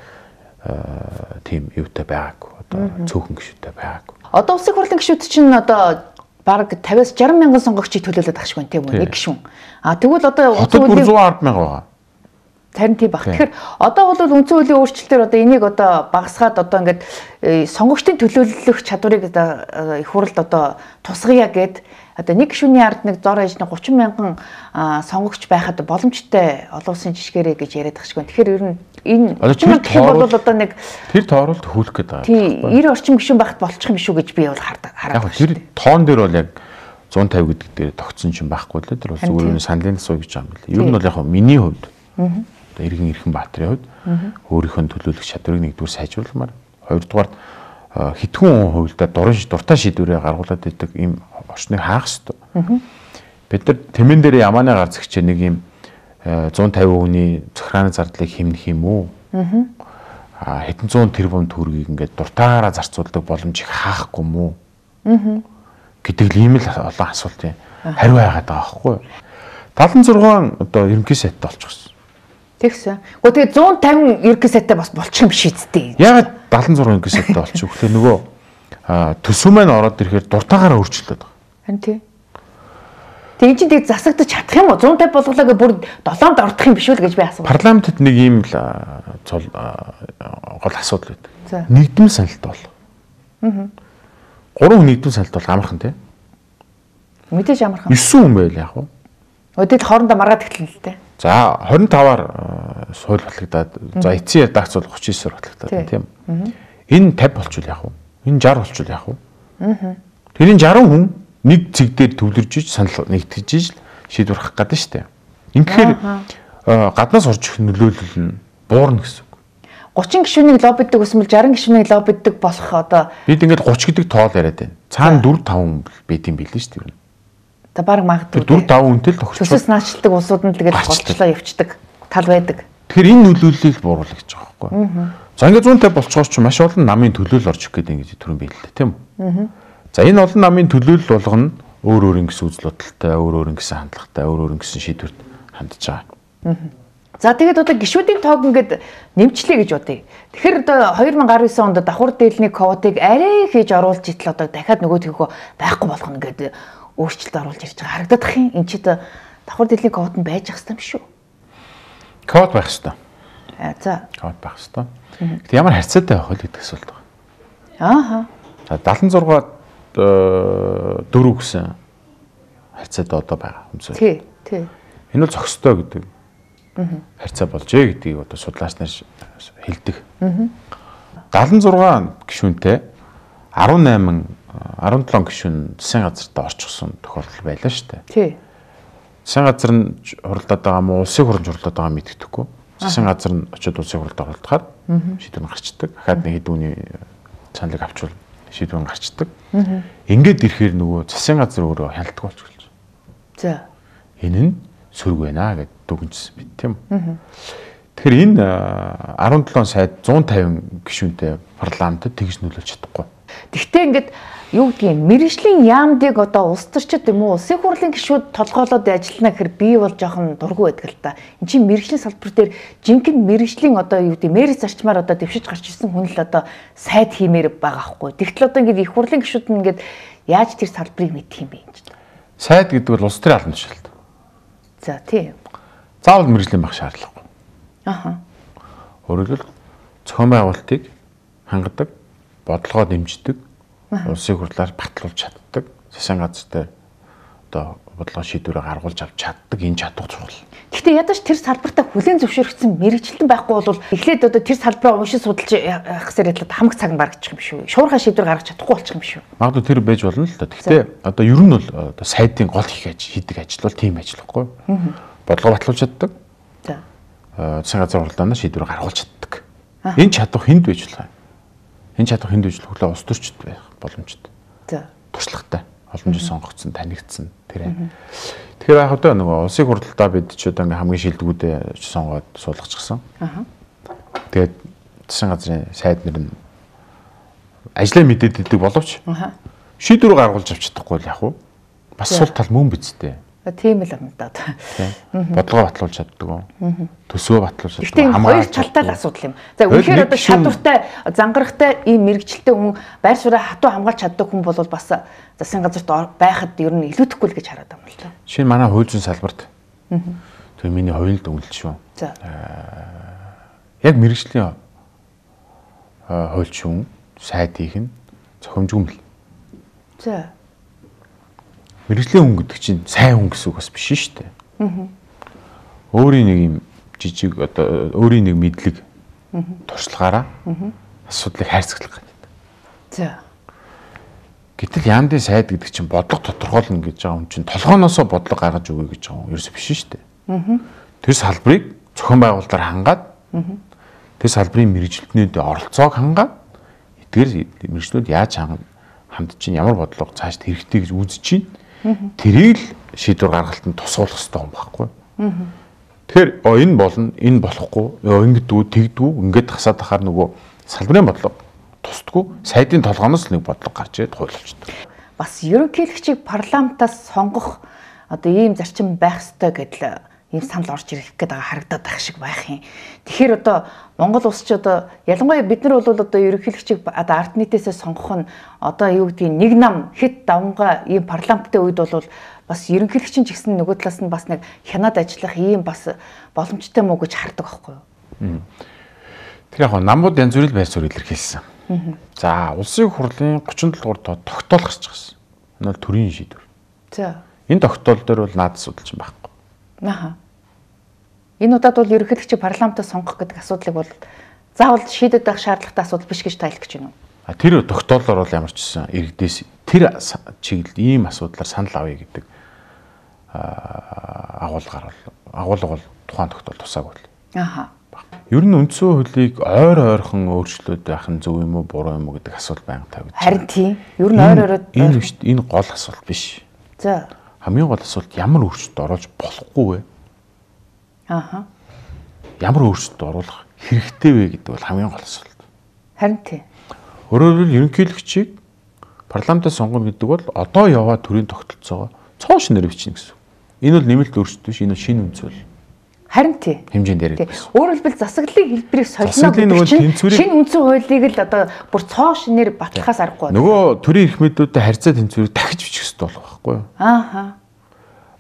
тийм юутай байгаагүй. Одоо цөөхөн гишүүнтэй байгаагүй. Одоо улсын хурлын гишүүд чинь одоо бараг 50-аас 60 мянган сонгогчийг төлөөлөд байгаа шүү тийм үү? Нэг гишүүн. Тэгвэл одоо улсын хурлын 110 мянга байгаа. Харин тийм баг. Тэгэхээр одоо бол үндсэн хуулийн өөрчлөлтөөр одоо энийг одоо багасгаад одоо ингээд сонгогчдын төлөөлөх чадварыг их хурлд одоо тусгая гэд одоо нэг гишүүний ард нэг зор ээж 30 мянган сонгогч байхад боломжтой олон улсын жишгээрээ гэж яриад байгаа шүү. Тэгэхээр ер нь энэ бол одоо нэг тэр тооруулалт хөлөх гэдэг байгаа. Тийм 90 орчим гишүүн байхад болчих юм шүү гэж би бол хараад байна. Яг тэр тоон дээр бол яг 150 гэдэг дээр тогтсон ч юм байхгүй л тэр бол зүгээр саналын суу гэж байгаа юм байна. Ер нь бол яг миний хувьд одоо Иргэн Эрхэнбаатарын хувьд өөрийнхөө төлөөлөх чадварыг нэгдүгээр сайжруулмаар, хоёрдугаар хитгэн хувьдаа дуртай шийдвэрээ гаргуулад идэг ийм орчныг хаах хэрэгтэй. Бид нар тэмэн дээр ямааны гар зэгчээ нэг ийм 150 хүний захиргааны зардлыг хэмнэх юм уу? Хэдэн зуун тэрбум төгрөгийг ингээд дуртаараа зарцуулдаг боломжийг хаахгүй мүү? Гэдэг л ийм л олон асуултын хариу байгаад байгаа байхгүй юу? 76 одоо ерөнхий сайттай болчихсон. Тэгсэн. Гэхдээ тэгээд 150 ерөнхий сайттай бас болчих юм шиг үстэй. Ягаад 76 ерөнхий сайттай болчих вэ? Тэгэхээр нөгөө төсөв маань ороод ирэхээр дуртаагаараа өөрчлөлтөд байгаа. Харин тий. Тэгээд чинь тэгээд засагдаж чадах юм уу? 150 болголоо бүр 7-нд ордох юм биш үү гэж би асуув. Парламентд нэг ийм л гол асуудал байдаг. Нэгдмэл саналт бол. 3 хүн нэгдмэл саналт бол амархан тий. Мэдээж амархан. 9 хүн байл яг уу. Өдөрт хоорондоо маргаад эхэлнэ л дээ. За 25-аар сууль батлагдаад за эцсийн редакц бол 39-оор батлагдаад тийм. Энэ 50 болчихвол яах вэ? Энэ 60 болчихвол яах вэ? Тэр энэ 60 хүн нэг цэг дээр төвлөрж иж санал нэгтгэж иж шийдвэр гаргах гэдэг нь шүү дээ. Инхээр гаднаас орж ирэх нөлөөлөл нь буурна гэсэн үг. 30 гишүүнийг лоббиддаг эсвэл 60 гишүүнийг лоббиддаг болох одоо бид ингээд 30 гэдэг тоол яриад байна. Цаана 4-5 хүн байт юм билээ шүү дээ. Та баг магадгүй 4-5 хүнтэй л тохирч. Төсөөс наачилдаг улсууд нь тэгээд голчлоо явцдаг тал байдаг. Тэгэхээр энэ нөлөөллийг бууруулах гэж байгаа байхгүй. За ингээд 150 болцоогоор ч маш олон намын төлөөлөл орж ирэх гэдэг ингэж төрөн биелэлтэй тийм үү? За энэ олон намын төлөөлөл болгоно өөр ингэсэн үзэл бодолтой, өөр ингэсэн хандлагатай, өөр ингэсэн шийдвэрт хандж байгаа. За тэгээд одоо гишүүдийн тоог ингээд нэмчлэе гэж бодъё. Тэгэхээр одоо 2019 онд давхар дээлний квотыг арай хийж оруулж итэл одоо дахиад нөгөөдгөө байхгүй болгоно гэдэг өөрчлөлт оруулж ирж байгаа харагдах юм. Энд чи давхар дээлний квот нь байж ах юм шүү. Квот байх хэрэгтэй. За. Квот байх хэрэгтэй. Гэхдээ ямар харьцаатай байх вэ гэдэг асуулт байна. Ааха. За 76-ад 4 гэсэн харьцаатай одоо байгаа юмсаа. Тий. Энэ бол зохистой гэдэг. Харьцаа болжээ гэдгийг одоо судлаач нар хэлдэг. 76 гишүүнтэй 17 гишүүн засгийн газарт орчихсон тохиолдол байлаа шүү дээ. Тий. Засгийн газар нь хуралдаад байгаа мó улсын хурлд хуралдаад байгаа мэддэхгүй. Засгийн газар нь очиод улсын хурлд оролдоход шийдвэр гарчдаг. Дахиад нэг хэдүүний саналыг авчвал шийдвэр гарчдаг. Ингээд ирэхээр нөгөө засгийн газар өөрөө хяналтгүй болчихлоо. За. Энэ нь сөрөг байна гэд дүгнжсэн мэт тийм үү. Тэгэхээр энэ 17 сайд 150 гишүүнтэй парламентд тэгж нөлөөлж чадахгүй. Гэхдээ ингээд юу гэдгийг мэргэжлийн яамдыг одоо улс төрчид юм уу улсын хурлын гишүүд толгоолоод ажиллана гэхээр би бол жоохон дургүй байдаг л та. Энд чинь мэргэжлийн салбар дээр жинхэнэ мэргэжлийн одоо юу гэдэг мэргэж зарчмаар одоо дэвшиж гарч ирсэн хүн л одоо сайд хиймээр байгаа хгүй. Тэгтэл одоо ингээд их хурлын гишүүд нь ингээд яаж тэр салбарыг мэдэх юм бэ энэ чинь. Сайд гэдэг бол улс төрийн албан тушаалт. За тийм. Заавал мэргэжлийн байх шаардлагагүй. Аха. Өөрөөр хэлбэл зохион байгуулалтыг хангадаг, бодлогоо дэмждэг, улсын хурлаар батлуулж чаддаг, засгийн газар дээр одоо бодлого шийдвэрээ гаргуулж авч чаддаг энэ чадвар чухал. Гэхдээ ядаж тэр салбартаа хүлээн зөвшөөрөгдсөн мэргэжилтэн байхгүй бол эхлээд одоо тэр салбараа уншиж судалж явах гэсэн хэлээд хамаг цаг баргачих юм шүү. Шуурхай шийдвэр гаргаж чадахгүй болчих юм шүү. Магадгүй тэр байж болно л да. Гэхдээ одоо ер нь бол одоо сайдын гол хийдэг ажил бол тийм ажил байхгүй. Бодлого батлуулж чаддаг. За. Засгийн газар хурлаанаа шийдвэр гаргуулж чаддаг. Энэ чадвар хүнд байж болох юм. Энэ чадвар хүнд байж хөглөө улс төрчд байх боломжтой. За. Туршлагатай. Олон жил сонгогдсон, танигдсан тэр. Тэгэхээр яг одоо нөгөө улсын хурлалтаа бид ч одоо ингээм хамгийн шилдэгүүдээ сонгоод суулгачихсан. Тэгээд засгийн газрын сайд нэр нь ажлаа мэдээд идэг боловч шийдвэр гаргуулж авч чадахгүй л яг уу. Бас сул тал мөн бицтэй. Тийм л юм да. Бодлогоо батлуулж чаддаг уу? Төсөө батлуулж чаддаг. Гэхдээ хоёр талтай л асуудал юм. За үнэхээр одоо чадвартай, зангарахтай ийм мэрэгчлээ хүн байр сууриа хатуу хамгаалж чаддаг хүн бол бас засгийн газарт байхад ер нь илүүдэхгүй л гэж хараад байна л да. Жишээ нь манай хууль зүйн салбарт. Тэр миний хувьд дүнэлт шүү. За. Яг мэрэгжлийн хууль зүйн сайдыг нь зохимжгүй мэл. За. Мэргэжлийн хүн гэдэг чинь сайн хүн гэсэн үг бас биш шүү дээ. Өөрийн нэг юм жижиг одоо өөрийн нэг мэдлэг туршлагаараа асуудлыг хайрцаглах гэдэг. За. Гэтэл яамдын сайд гэдэг чинь бодлого тодорхойлно гэж байгаа юм чинь толгооноосоо бодлого гаргаж өгье гэж байгаа юм ерөөсөө биш шүү дээ. Тэр салбарыг зохион байгуулалтаар хангаад тэр салбарын мэргэжилтнүүдийн оролцоог хангаад эдгээр мэргэжлүүд яаж хандж чинь ямар бодлого цааш хэрэгтэй гэж үзэж чинь тэрийг л шийдвэр гаргалтанд тусгуулах хэрэгтэй юм байхгүй. Тэгэхээр энэ болно, энэ болохгүй, ингэдэггүй, тэгдэггүй, ингээд хасаад ахаар нөгөө салбарын бодлого тусдаггүй, сайдын толгооноос нэг бодлого гарч ирээд хуйлуулчихдаг. Бас ерөнхийлөгчийг парламентаас сонгох одоо ийм зарчим байх ёстой гэдэл ийм санал орж ирэх гээд байгаа харагдаад байх шиг байх юм. Тэгэхээр одоо Монгол улс ч одоо ялангуяа бид нар бол одоо ерөнхийлөгчийг одоо ард нийтээсээ сонгох нь одоо юу гэдгийг нэг нам хэд давнгаа ийм парламенттай үед бол бас ерөнхийлөгчийн ч гэсэн нөгөө талаас нь бас нэг хянаад ажиллах ийм бас боломжтой мүү гэж хардаг байхгүй юу? Тэр яг намууд янз бүрийн байр суурь илэрхийлсэн. За улсын хурлын 37 дугаар тоо тогтоол гарч ирсэн. Энэ бол төрийн шийдвэр. За. Энэ тогтоол дээр бол наад судалж байхгүй. Аха. Энэ удаад бол ерөнхийлөгчийг парламентаас сонгох гэдэг асуудлыг бол заавал шийдэд байх шаардлагатай асуудал биш гэж тайлбарч байна уу? Тэр тогтоолоор бол ямар ч гэсэн иргэдээс тэр чиглэл ийм асуудлаар санал авъя гэдэг агуулга бол тухайн тогтоол тусаагүй л. Аха. Ер нь үндсэн хуулийг ойрхон өөрчлөөд байх нь зөв юм уу буруу юм уу гэдэг асуулт байнга тавигдаж байна. Харин тийм. Ер нь ойроод энэ гол асуулт биш. За. Хамгийн гол асуулт ямар өөрчлөлт оруулж болохгүй вэ? Аха. Ямар өөрчлөлт оруулах хэрэгтэй вэ гэдэг бол хамгийн гол асуулт. Харин тийм. Өөрөөр хэлбэл ерөнхийлөгчийг парламентаас сонгоно гэдэг бол одоо яваа төрийн тогтолцоогоо цоон шинээр бичнэ гэсэн. Энэ бол нэмэлт өөрчлөлт биш, энэ шинэ үндэслэл. Харин тийм. Хэмжээнд яригдсан. Өөрөөр хэлбэл засаглалын хэлбэрийг солино гэдэг чинь шинэ үндсэн хуулийг л одоо бүр цоо шинээр батлахаас аргагүй. Нөгөө төрийн эрх мэдүүдтэй харьцаа тэнцвэрийг дахиж бичих хэрэгтэй болох байхгүй юу? Ааха.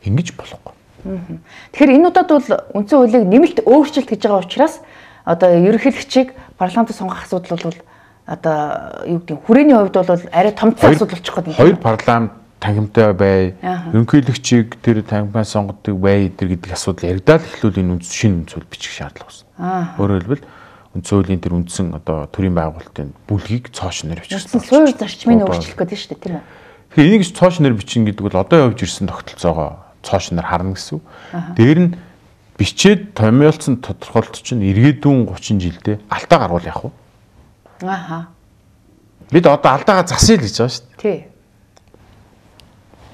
Ингэж болохгүй. Тэгэхээр энэ удаад бол үндсэн хуулийг нэмэлт өөрчлөлт гэж байгаа учраас одоо ерөнхийлөгчийг парламентод сонгох асуудал бол одоо юу гэдэг хүрээний хувьд бол арай томцсон асуудал болчих гээд байна. Хоёр парламент тангимтай бай, ерөнхийлөгчийг тэр тангимтай сонгодог бай гэдэг асуудал яригдаад эхлүүл энэ шинэ үндсүүл бичих шаардлага байна. Өөрөөр хэлбэл үндсэн хуулийн тэр үндсэн одоо төрийн байгуулалтын бүлгийг цоошин нэр бичсэн. Суурь зарчмыг өөрчлөх гэдэг шүү дээ, тийм үү? Тэгэхээр энийг цоошин нэр бичин гэдэг бол одоо явж ирсэн тогтолцоогоо цоошиноор харна гэсэн. Дээр нь бичээд томьёолцсон тодорхойлт чинь иргэдүүн 30 жилдээ алдаа гаруул яах вэ? Бид одоо алдаагаа засъя л гэж байгаа шүү дээ. Тий.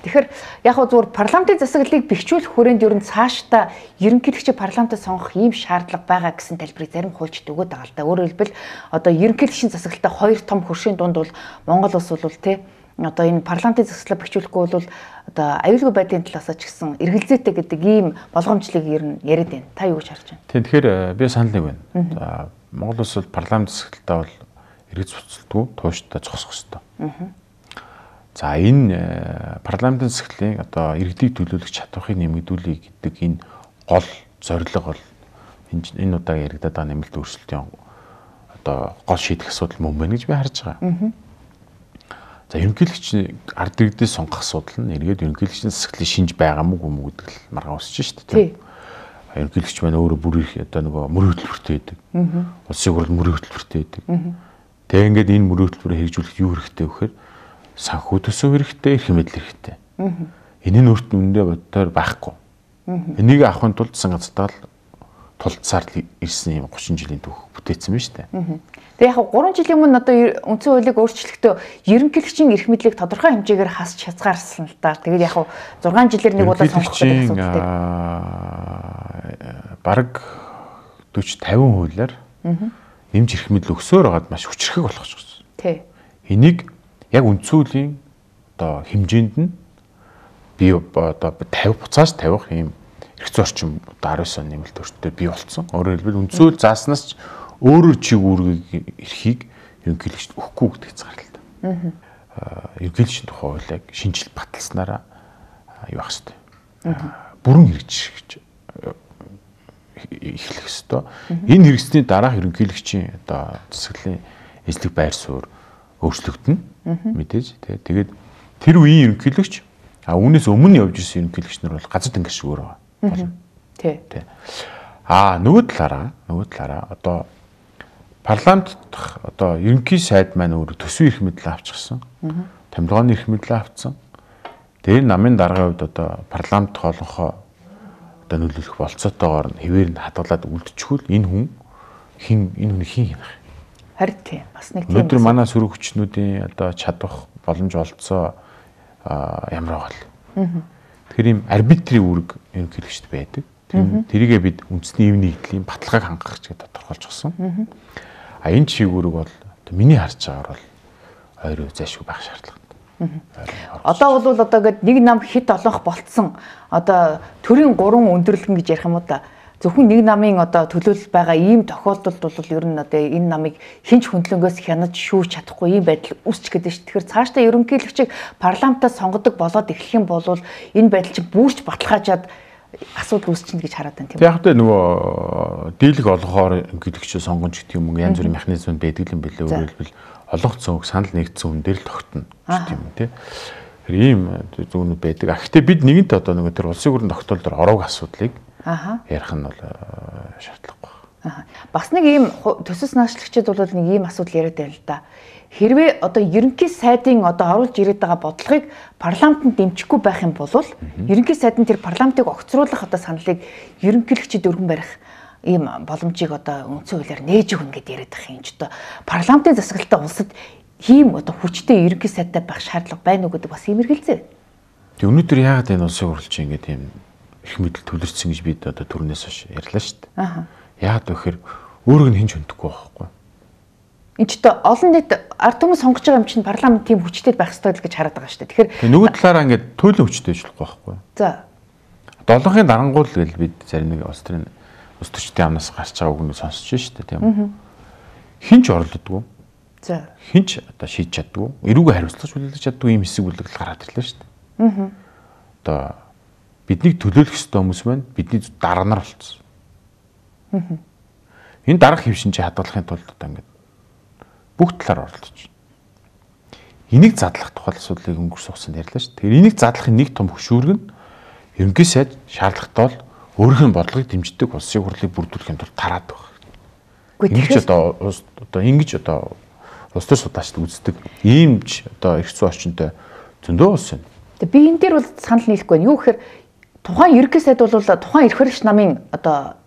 Тэгэхээр яг хөө зүгээр парламентын засаглалыг бэхжүүлэх хүрээнд ер нь цаашдаа ерөнхийлөгчийг парламентад сонгох ийм шаардлага байгаа гэсэн тайлбарыг зарим хуульчид өгöd байгаа л да. Өөрөөр хэлбэл одоо ерөнхийлөгчийн засаглалтаа хоёр том хөршийн дунд бол Монгол улс бол тий одоо энэ парламентын засаглалаа бэхжүүлэхгүй бол одоо аюулгүй байдлын талаас ч гэсэн эргэлзээтэй гэдэг ийм болгоомжлыг ер нь яриад байна. Та юу гэж харж байна? Тийм тэгэхээр би санал нэг байна. За Монгол улс бол парламент засаглалтаа бол эргэж буцалтгүй тууштай зогсох ёстой. За энэ парламентын засаглалын одоо иргэдийг төлөөлөх чадварыг нэмэгдүүлэх гэдэг энэ гол зорилго бол энэ удаагийн яригадаад байгаа нэмэлт өөрчлөлтийн одоо гол шийдэх асуудал мөн байна гэж би харж байгаа. За ерөнхийлөгчийн ард иргэдээс сонгох асуудал нь эргээд ерөнхийлөгчийн засаглалыг шинж байгаа мүү гүм гэдэг л маргаа усч шүү дээ. Ерөнхийлөгч маань өөрөө бүр их одоо нөгөө мөрийн хөтөлбөртэй байдаг. Улсын хурлд мөрийн хөтөлбөртэй байдаг. Тэгээ ингээд энэ мөрийн хөтөлбөрөөр хэрэгжүүлэх юу хэрэгтэй вэ гэхээр санхүү төсөв хэрэгтэй, эрх мэдэл хэрэгтэй. Энэ нь өөрт нь үндэ боддоор байхгүй. Энийг авахын тулд засаг газартаа тулдсаар ирсэн юм 30 жилийн түүх бүтээсэн байна шүү дээ. Тэгээ яг 3 жилийн өмнө одоо үндсэн хуулийг өөрчлөхдөө ерөнхийлөгчийн эрх мэдлийг тодорхой хэмжээгээр хасч хязгаарсан л да. Тэгээд яг 6 жилээр нэг удаа сонгох гэдэг асуудалтай. Бараг 40-50 хуулиар нэмж эрх мэдэл өгсөөр байгаад маш хүчрхэг болгочихсон. Тий. Энийг яг үндсэн хуулийн одоо хэмжээнд нь би одоо 50 буцааж тавих юм эрх зорчим одоо 19 оны нэмэлт өөрчлөлтөөр бий болсон. Өөрөөр хэлбэл үндсэн хууль зааснаас ч өөрөөр чиг үүргийг эрхийг ерөнхийлөгчд өгөхгүй гэдэг хязгаарлалт. Ерөнхийлөгчийн тухай хуулийг шинжилт баталснараа юу ах хэвээр бүрэн хэрэгжих эхлэх хэвээр. Энэ хэрэгсний дараах ерөнхийлөгчийн одоо засаглалын эзлэх байр суурь өөрчлөгдөнө. Мэдээж тэгээд тэр үеийн ерөнхийлөгч үүнээс өмнө явж ирсэн ерөнхийлөгч нар бол газар тэнгэр шиг өөр байгаа. Тий. Нөгөө талаараа одоо парламент одоо ерөнхий сайд маань өөр төсвийн эрх мэдэл авчихсан. Томилгооны эрх мэдэл авцсан. Тэр намын даргын хувьд одоо парламент хоолонхоо одоо нөлөөлөх болцоотойгоор нь хэвээр нь хадгалаад үлдчихвэл энэ хүн хин хянах. Харин тийм бас нэг тийм. Өнөөдөр манай сөрөг хүчнүүдийн одоо чадвах боломж олцоо ямар байгаа л. Тэгэхээр ийм арбитрийн үүрэг ерөнхийлөгчд байдаг. Тэрийгээ бид үндэсний эв нэгдлийн баталгааг хангах гэж тодорхойлчихсон. Энэ чиг үүрэг бол миний харж байгаагаар бол ойроо зайшгүй байх шаардлагатай. Одоо бол одоо гээд нэг нам хит олонх болцсон. Одоо төрийн 3 өндөрлгөн гэж ярих юм уу да. Зөвхөн нэг намын одоо төлөөлөл байгаа ийм тохиолдолд бол ер нь одоо энэ намыг хинч хөндлөнгөөс хянаж шүүж чадахгүй ийм байдал үүсч гэдэг шүү. Тэгэхээр цаашдаа ерөнхийлөгчийг парламентад сонгодог болоод эхлэх юм бол энэ байдал чинь бүрч баталгаажаад асуудал үүсчихнэ гэж хараад байна тийм үү? Яг тэ нөгөө дийлэг олгохоор ерөнхийлөгчөө сонгоно гэдэг юм уу янз бүрийн механизм байдаг юм билээ. Өөрөөр хэлбэл олонхцсон үг санал нэгдсэн хүн дээр л тогтно гэдэг юм тий. Ийм зүүнүүд байдаг. Гэхдээ бид нэгэнт одоо нөгөө тэр улсын хурлын тогтоолдоор ороог асуудлыг ярих нь бол шаардлагагүй. Бас нэг ийм төсөс наачлагчид бол нэг ийм асуудал яриад байна л да. Хэрвээ одоо ерөнхий сайдын одоо оруулж ирээд байгаа бодлогыг парламентод дэмжихгүй байх юм бол ерөнхий сайд нь тэр парламентыг огцруулах одоо саналыг ерөнхийлөгчид өргөн барих ийм боломжийг одоо үндсэн хуулиар нээж өгнө гэдээ яриад байгаа юм ч одоо парламентын засаглалтаа улсад ийм одоо хүчтэй ерөнхий сайдтай байх шаардлага байна уу гэдэг бас ийм эргэлзээ. Тэг өнөөдөр яагаад энэ улсын хурлч ингэж ийм их мэдл төлөрсөн гэж бид одоо түрнээс хойш ярьлаа шүү дээ. Яагаад вэ гэхээр өөрөг нь хинж хөндөхгүй байхгүй. Энд ч олон нийт ард түмэн сонгож байгаа юм чинь парламент тийм хүчтэй байх ёстой л гэж хараад байгаа шүү дээ. Тэгэхээр нөгөө талаараа ингээд төлөө хүчтэй ажиллахгүй байхгүй. За. Долоохын дарангуул гэж бид зарим нэг улс төрийн улс төрчдийн амнаас гарч байгаа үгнийг сонсч шүү дээ тийм үү. Хинч оролддоггүй. За. Хинч одоо шийдэж чаддгүй. Эрүүгээ хариуцлага хүлээж чаддгүй юм хэсэг бүлэг гараад ирлээ шүү дээ. Одоо биднийг төлөөлөх ёстой хүмүүс маань бидний дарга нар болцсон. Энэ дарга хэв шинжээ хадгалахын тулд одоо ингээд бүх талаар оролдож байна. Энийг задлах тухай асуудлыг өнгөрсөн хугацаанд ярьлаа шүү. Тэгэхээр энийг задлахын нэг том хөшүүрэг нь ерөнхий сайд шаардлагатай бол өөрийнх нь бодлогыг дэмждэг улсын хурлыг бүрдүүлэхийн тулд тараад байгаа. Ингэж одоо ингэж одоо улс төр судлаачид үздэг иймж одоо эрх зүйн орчинтой зөндөө улс байна. Тэгээ би энэ дээр бол санал нийлэхгүй байна. Юу гэхээр тухайн ерөнхий сайд бол тухайн эрх баригч намын одоо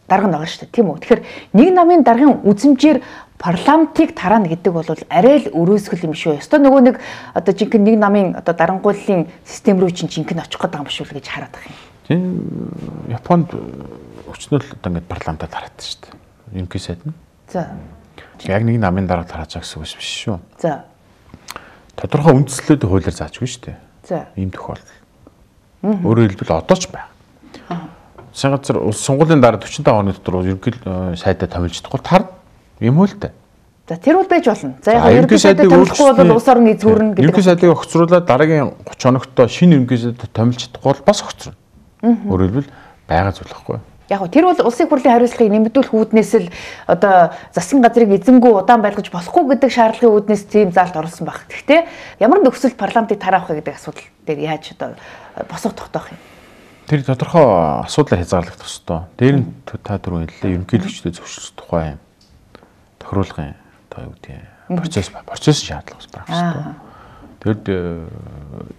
дарга байгаа шүү дээ, тийм үү? Тэгэхээр нэг намын даргын үзмжээр парламентыг тараана гэдэг бол арай л өрөөсгөл юм шүү. Ёстой нөгөө нэг одоо жинхэнэ нэг намын одоо дарангууллын систем рүү чинь жинхэнэ очих гэдэг юм биш үү гэж хараад байгаа юм. Тийм Японд өчнөл одоо ингээд парламентаа тараадсан шүү дээ. Ерөнхий сайд нь. За. Яг нэг намын дарга тарааж байгаа гэсэн үг биш шүү. За. Тодорхой үндслэлүүд хуулиар заажгүй шүү дээ. За. Ийм тохиолдол. Өөрөөр хэлбэл одоо ч байна. Засгийн газар улс сонгуулийн дараа 45 оны дотор ерөнхий сайдаа томилж чадахгүй тар юм уу л дээ. За тэр бол байж болно. За яг ерөнхий сайдаа томилохгүй бол улс орны эзгүүрнэ гэдэг. Ерөнхий сайдыг огцруулаад дараагийн 30 хоногт шинэ ерөнхий сайдаа томилж чадахгүй бол бас огцруулна. Өөрөөр хэлбэл байгаа зүйл байхгүй. Яг тэр бол улсын хурлын хариуцлагыг нэмэгдүүлэх үүднээс л одоо засгийн газрыг эзэнгүү удаан байлгаж болохгүй гэдэг шаардлагын үүднээс тийм заалт оруулсан баг. Гэхдээ ямар нөхцөлд парламентыг тараах вэ гэдэг асуудал дээр яаж одоо босго тогтоох юм? Тэр тодорхой асуудлаар хязгаарлагдах ёстой. Дээр нь та түрүү хэллээ ерөнхийлөгчдөө зөвшөөрөх тухай тохируулгын одоо юу гэдэг процесс шаардлага байх ёстой. Тэгэд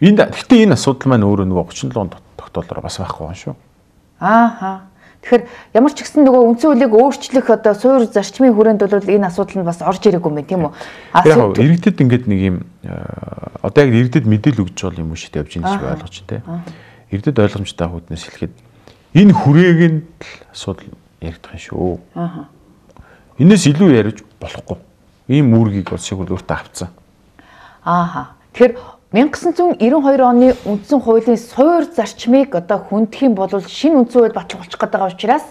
гэхдээ энэ асуудал маань өөрөө нөгөө 37 тогтоолоор бас байхгүй байна шүү. Ааха. Тэгэхээр ямар ч гэсэн нөгөө үндсэн хуулийг өөрчлөх одоо суур зарчмын хүрээнд бол энэ асуудал нь бас орж ирээгүй юм байна тийм үү? Яг иргэдэд ингээд нэг юм одоо яг иргэдэд мэдээлэл өгч байгаа юм шиг явж байгаа гэж ойлгож тэ. Иргэдэд ойлгомжтой хүүднээс хэлэхэд энэ хүрээгийн асуудал яригдах юм шүү. Энээс илүү яриж болохгүй. Ийм үүргийг улсын хурл өөртөө авцсан. Тэгэхээр 1992 оны үндсэн хуулийн суур зарчмыг одоо хүндэх юм бол шинэ үндсэн хууль батлах болчих гээд байгаа учраас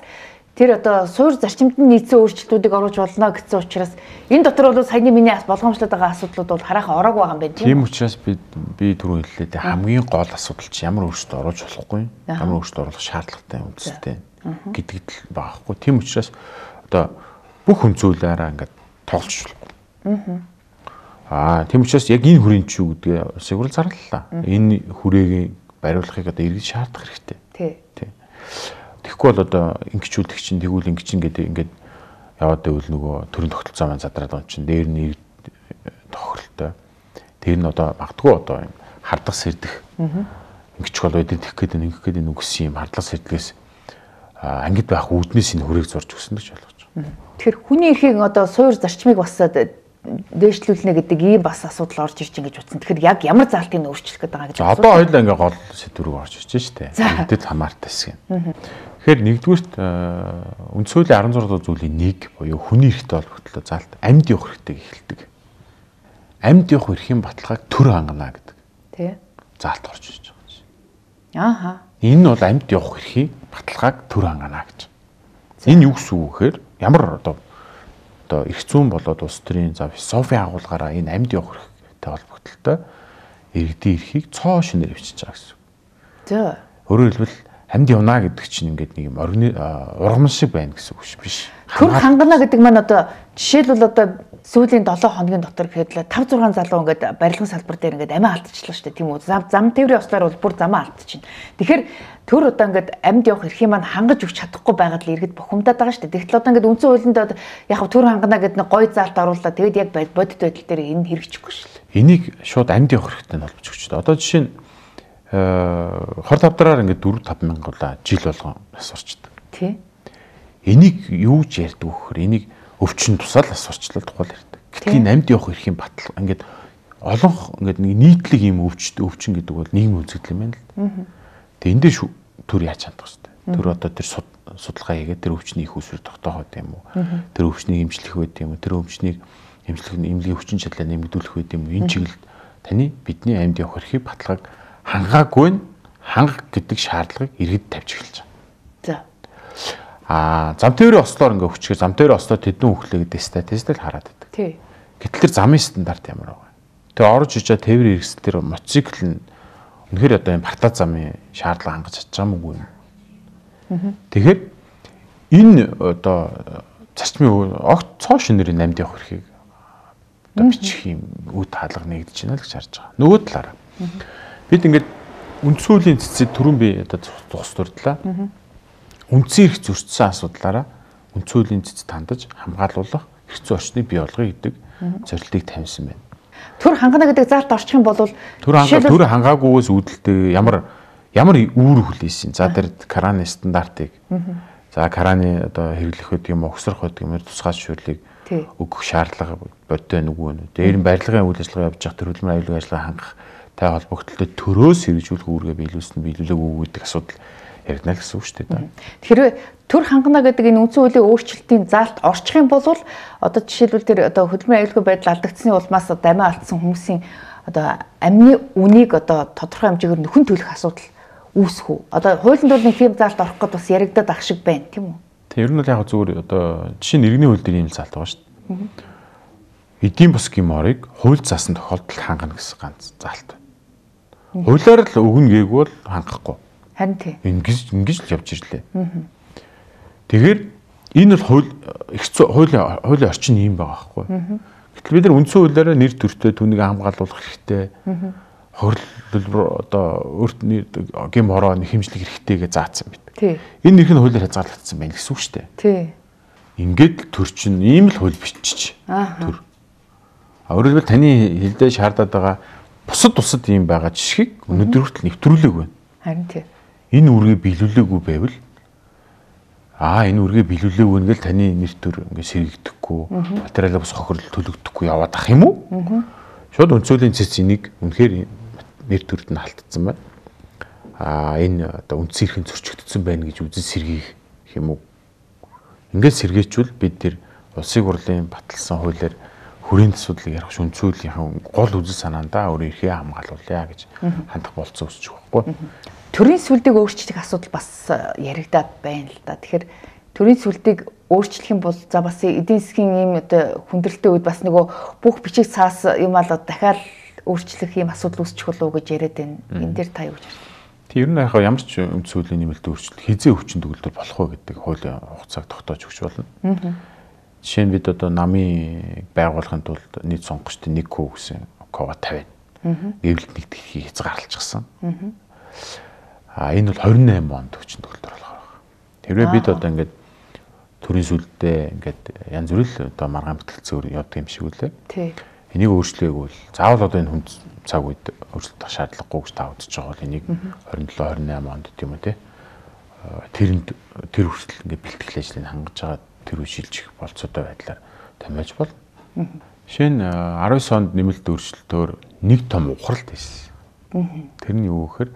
тэр одоо суур зарчимд нь нийцсэн өөрчлөлтүүдийг оруулж болно гэсэн учраас энэ дотор бол саяны миний болгоомжлоод байгаа асуудлууд бол хараахан ороогүй байгаа юм байна тийм учраас би түрүү хэллээ дээ хамгийн гол асуудал чи ямар өөрчлөлт оруулж болохгүй ямар өөрчлөлт оруулах шаардлагатай үндсэтэй гэдэгт л байхгүй тийм учраас одоо бүх үндсэн хуулиараа ингээд тоолж болохгүй тийм учраас яг энэ хүрээнд ч юу гэдгээ улсын хурл зарлалаа. Энэ хүрээгийн бариулахыг одоо иргэд шаардах хэрэгтэй. Тий. Тэгэхгүй бол одоо ингэчүүлдэг чинь тэгвэл ингэч ингээд яваад байвал нөгөө төрийн тогтолцоо маань задраад байгаа чинь дээр нь тохиролтой. Тэр нь одоо магадгүй одоо юм хардах сэрдэх ингэч бол өдөрт их гээд ингэх гээд нүгсэн юм хардлага сэрдгээс ангид байх үүднээс энэ хүрээг зурж өгсөн гэж ойлгож байна. Тэгэхээр хүний эрхийг одоо суур зарчмыг бас дээшлүүлнэ гэдэг ийм бас асуудал орж ирж ингэж утсан. Тэгэхээр яг ямар заалтыг өөрчлөх гэдэг байгаа гэж байна. Одоо хоёулаа ингээ гол сэдвүүг орж ирж байна шүү дээ. Эдэд хамаартай хэсэг юм. Тэгэхээр нэгдүгürt үндсэн хуулийн 16 дугаар зүйлийн 1 буюу хүний эрхтэй холбогдлоо заалт амьд явах эрхтэйг эхэлдэг. Амьд явах эрхийн баталгааг төр хангана гэдэг. Тий. Заалт орж ирж байгаа юм. Энэ нь бол амьд явах эрхийн баталгааг төр хангана гэж. Энэ юу гэсэн үг гэхээр ямар одоо эрх зүйн болоод улс төрийн философийн агуулгаараа энэ амьд явах эрхтэй холбогдлолтой иргэдийн эрхийг цоо шинээр хвчиж байгаа гэсэн. За. Өөрөөр хэлбэл амьд явна гэдэг чинь ингээд нэг юм ургамал шиг байна гэсэн үг биш. Төр хангана гэдэг маань одоо жишээлбэл одоо сүүлийн 7 хоногийн дотор гэхэд 5-6 залуу ингээд барилгын салбар дээр ингээд амиа алдчихлаа шүү дээ тийм үү. Зам тээврийн ослоор бол бүр замаа алдчихна. Тэгэхээр төр одоо ингээд амьд явах эрхийг маань хангаж өгч чадахгүй байгаад л иргэд бухимдаад байгаа шүү дээ. Тэгтэл одоо ингээд үндсэн хуулинд яг төр хангана гэдэг нэг гой заалт оруулаад тэгээд яг бодит байдал дээр энэ хэрэгжихгүй шүү дээ. Энийг шууд амьд явах эрхтэй холбож өгч дээ. Одоо жишээ нь хор тавдраар ингээд 4-5 мянган жил болгон асуурчдаг. Тий. Энийг юу ч ярьдаг вөхөр энийг өвчин тусаал асуурчлал тухайл ярьдаг. Гэтэл энэ амьд явах эрхийн батал ингээд олонх ингээд нэг нийтлэг юм өвчин гэдэг бол нийгмийн үзэгдэл юм байна л. Тэгээ энэ дээр төр яаж хандах вэ? Төр одоо тэр судалгаа хийгээд тэр өвчний их усрыг тогтоох байт юм уу? Тэр өвчнийг эмчлэх байт юм уу? Тэр өвчнийг эмнэлгийн өвчин чадлаа нэмэгдүүлэх байт юм уу? Энэ чиглэлд таны бидний амьд явах эрхийг баталгааг хангаагүй хангах гэдэг шаардлагыг иргэд тавьж эхэлж байгаа. За. Зам тээврийн ослоор ингээ хүчээр зам тээврийн ослоо тэдэн өглөө гэдэг статистик хараад байдаг. Тий. Гэтэл тэр замын стандарт ямар байгаа. Тэгээ орж иж байгаа тээврийн хэрэгсэл тэр мотоцикл нь үнэхээр одоо юм партаа замын шаардлага хангаж чадж байгаа мүү юм. Тэгэхээр энэ одоо зарчмын огт цоо шинэрийн амьд явах эрхийг одоо бичих юм үе хаалга нэгдэж байна л гэж харж байгаа. Нөгөө талаараа бид ингээд үндсэн хуулийн цэцэд түрүүн би одоо зогс дурдлаа. Үндсэн эрх зөрчсөн асуудлаараа үндсэн хуулийн цэцэд хандаж хамгаалуулах хэрэгцээ орчныг бий болгоё гэдэг зорилтыг тавьсан байна. Төр хангана гэдэг заалт орчих юм бол төр хангаагүйгээс үүдэлтэй ямар үүр хүлээсэн. За тэр Кораны стандартыг за Кораны одоо хэрэглэх гэдэг юм огсрох гэдэг юм тусгай зөвшөөрлийг өгөх шаардлага бодтой нүгүү нэ. Дээр нь барилгын үйл ажиллагаа явуулж байгаа төрөлмөр аюулгүй ажиллагаа хангах тай холбогдлолтой төрөөс хэрэгжүүлэх үүргээ биелүүлээгүй гэдэг асуудал яригдана л гэсэн үг шүү дээ. Тэгэхээр төр хангана гэдэг энэ үндсэн хуулийн өөрчлөлтийн заалт орчих юм бол одоо жишээлбэл тэр одоо хөдөлмөрийн аюулгүй байдал алдагдсны улмаас дамиа алдсан хүмүүсийн одоо амны үнийг одоо тодорхой хэмжээгээр нөхөн төлөх асуудал үүсэх үү? Одоо хуулийн дунд нэг тийм заалт орох гэдэг бас яригдаад ах шиг байна тийм үү? Ер нь бол яг зүгээр одоо жишээ нь иргэний хууль дээр ийм заалт байгаа шүү дээ. Эдийн засгийн морийг хууль заасан тохиолдолд хангана гэсэн ганц заалт байна. Хуулиар л өгнө гээг бол хангахгүй. Харин тийм. Ингэж л явж ирлээ. Тэгэхээр энэ бол хуулийн орчин юм байгаа байхгүй. Гэтэл бид нар үндсэн хуулиараа нэр төртөө түүнийг хамгаалуулах хэрэгтэй. Хөрөлбөр одоо өөрт гим хороо хэмжлэх хэрэгтэй гэж заасан бид. Энэ нэрх нь хуулиар хязгаарлагдсан байна гэсэн үг шүү дээ. Тий. Ингээд төр чинь ийм л хууль бичиж төр. Өөрөөр хэлбэл таны хэлдэ шаардаад байгаа бусад ийм байгаа жишгийг өнөөдөр хүртэл нэвтрүүлээгүй байна. Харин тий. Энэ үргээ биелүүлээгүй байвал энэ үргээ биелүүлээгүй нэгэл таны нэр төр ингээд сэргийгдэхгүй материалаа бас хохирол төлөгдөхгүй яваад ах юм уу? Шууд үндсөлийн цэц энийг үнэхээр нэр төрд нь халтцсан байна. Энэ одоо үндсэн эрхэн зөрчигдсөн байна гэж үзэн сэргийх юм уу? Ингээд сэргээчвэл бид тэр улсын хурлын баталсан хуулиар хүрээнд асуудлыг ярих үндсүүлийнхэн гол үзэл санаандаа өөрөө эрхээ хамгаалуулъя гэж хандах болцсон үсчих байхгүй. Төрийн сүлдийг өөрчлөх асуудал бас яригадаад байна л да. Тэгэхээр төрийн сүлдийг өөрчлөх юм бол за бас эдийн засгийн ийм одоо хүндрэлтэй үед бас нөгөө бүх бичиг цаас юм аа дахиад өөрчлөх ийм асуудал үүсчих болов уу гэж яриад байна. Энэ дээр та юу гэж байна? Тэг ер нь яг ямар ч үндсэн хуулийн нэмэлт өөрчлөлт хизээ өвчин төгөлдөр болох уу гэдэг хуулийн хугацааг тогтоож өгч болно. Жишээ нь бид одоо намын байгуулахын тулд нийт сонгогчдын 1 күү гэсэн кова тавина. Эвлэлт нэгтгэхийг хязгаарлалчихсан. Энэ бол 28 онд өвчин төгөлдөр болох байна. Тэрвээ бид одоо ингээд төрийн сүлдээ ингээд янз бүр л одоо маргаан бүтэлцээр явдаг юм шиг үлээ. Тий. Энийг өөрчлөөгүй бол заавал одоо энэ хүнд цаг үед өөрчлөлт шаардлагагүй гэж та үзэж байгаа бол энийг 27 28 онд тийм үү те. Тэр хүртэл ингээд бэлтгэл ажлыг хангаж байгаа тэр үе шилжих болцоотой байдлаар томьёож бол. Жишээ нь 19 онд нэмэлт өөрчлөлтөөр нэг том ухралт хийсэн. Тэр нь юу гэхээр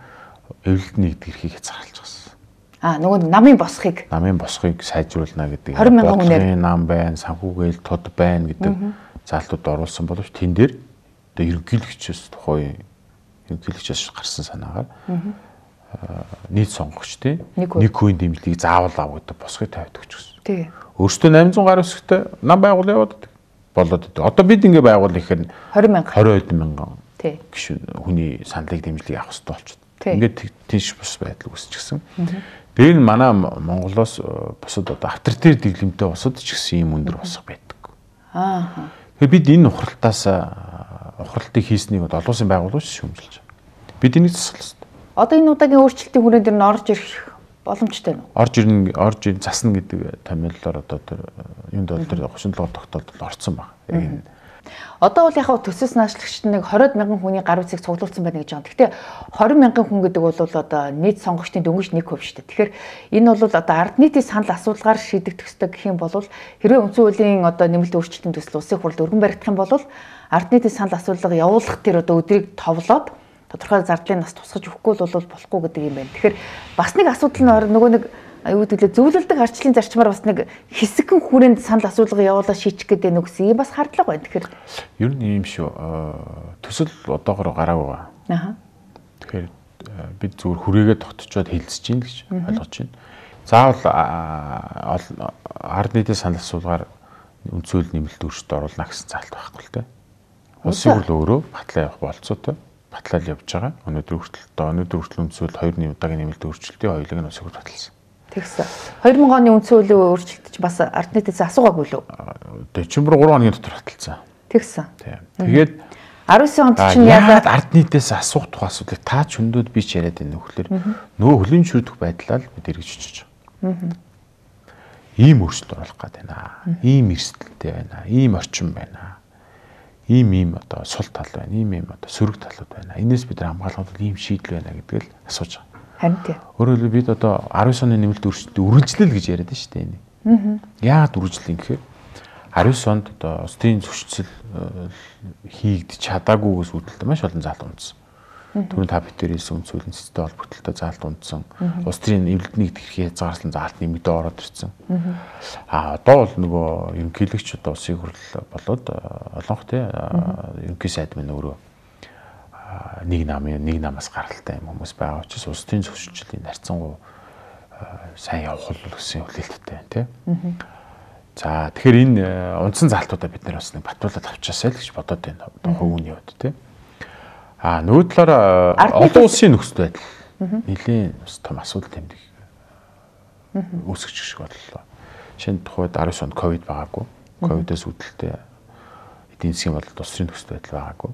эвлэлт нэгдгэрхийг хязгаарлаж байгаа. Нөгөө намын босхыг сайжруулна гэдэг. 20,000 хүнээр нам байна, санхүүгээл тод байна гэдэг заалтууд оруулсан боловч тэн дээр одоо ерөнхийлөгчөөс тухайн ерөнхийлөгчөөс гарсан санаагаар нийт сонгогчдын нэг хувийн дэмжлэгийг заавал ав гэдэг босхыг тавьдаг ч гэсэн. Тий. Өөртөө 800 гаруй өсөхтэй нам байгуул яваад болоод байдаг. Одоо бид ингэ байгуул ихээр 20 мянган гишүүн хүний саналыг дэмжлэгийг авах хэрэгтэй болчиход. Ингээд тийш бус байдал үүсчихсэн. Дээр нь манай Монголоос бусад одоо авторитар дэглэмтэй бусад ч гэсэн ийм өндөр босго байдаг. Тэгэхээр бид энэ ухралтыг хийснийг олон улсын байгууллагууд шүүмжилж байгаа. Бид энийг засах хэрэгтэй. Одоо энэ удаагийн өөрчлөлтийн хүрээнд дэр нь орж ирэх боломжтой нь. Орж ирэн засна гэдэг томьёолоор одоо тэр юунд бол тэр 37 тогтоолдод орцсон баг. Яг энэ. Одоо бол яг төсөөс наашлагчд нэг 20,000 хүний гар үсгийг цуглуулсан байна гэж байгаа. Гэхдээ 20,000 хүн гэдэг бол одоо нийт сонгогчдын дөнгөж 1% шүү дээ. Тэгэхээр энэ бол одоо ард нийтийн санал асуулгаар шийдэгдэх ёстой гэх юм бол хэрвээ үндсэн хуулийн одоо нэмэлт өөрчлөлтийн төсөл улсын хурлд өргөн баригдах юм бол ард нийтийн санал асуулга явуулах тэр одоо өдрийг товлоод тодорхой зардлын нас тусгаж өгөхгүй бол болохгүй гэдэг юм байна. Тэгэхээр бас нэг асуудал нь нөгөө нэг юу гэдэг зөвлөлдөг арчлалын зарчмаар бас нэг хэсэгэн хүрээнд санал асуулга явуулаад шийдэх гэдэг нэг үс юм бас хардлага байна. Тэгэхээр ер нь юм шүү. Төсөл одоогоор гараагүй байгаа. Тэгэхээр бид зүгээр хүрээгээ тогтцоод хэлцэж гин гэж ойлгож байна. Заавал ард нийтийн санал асуулгаар үндсэн хууль нэмэлт өөрчлөлт оруулна гэсэн заалт байхгүй л дээ. Улсын хурл өөрөө батлаа явах болцоотой. Батлал явж байгаа. Өнөөдөр хүртэл үндсэн хууль 2-ны удаагийн нэмэлт өөрчлөлтийн хоёулыг нь улсын хурл баталсан. Тэгсэн. 2000 оны үндсэн хуулийн өөрчлөлт чинь бас ард нийтээс асуугаагүй лөө. Дечембер 3 хоногийн дотор баталсан. Тэгсэн. Тэгээд 19 онд чинь яагаад ард нийтээс асуух тухай асуудлыг та ч өндөд би ч яриад байна нөхлөөр нөгөө хөлийн шүрдэх байдлаа л бид эргэж очиж байгаа. ийм өөрчлөлт оруулах гээд байна. Ийм эрсдэлтэй байна. Ийм орчин байна. Ийм одоо сул тал байна. Ийм одоо сөрөг талууд байна. Энээс бид хамгаалахад ийм шийдэл байна гэдгийг л асууж байгаа. Харин тийм. Өөрөөр хэлбэл бид одоо 19 оны нэмэлт өөрчлөлтөд үргэлжлэл гэж яриад байна шүү дээ энэ. Яагаад үргэлжлэл гэхээр 19 онд одоо улсын зөрчил хийгдэж чадаагүйгээс үүдэлтэй маш олон заалт унтсан. Түрүүн та битээр хэлсэн үндс хуулийн цэцтэй холбогдлолтой заалт унтсан. Улс төрийн эвлэлтнийг хэрхээ хязгаарласан заалт нэмэгдээ ороод ирсэн. Одоо бол нөгөө ерөнхийлөгч одоо улсын хурл болоод олонх тий ерөнхий сайд минь өөрөө нэг намаас гаралтай юм хүмүүс байгаа учраас улс төрийн зөрчиллийн нарцсангуу сайн явах бол гэсэн хүлээлттэй байна тий. За тэгэхээр энэ унтсан заалтуудаа бид нар бас нэг батлуулаад авчаасай л гэж бодоод байна. Одоо хувийн хувьд тий. Нөгөө талаараа олон улсын нөхцөл байдал нэлийн том асуудал тэмдэг үүсгэж шиг боллоо. Шинэ тухайд 19 онд ковид байгаагүй. Ковидээс үүдэлтэй эдийн засгийн болоод улс төрийн нөхцөл байдал байгаагүй.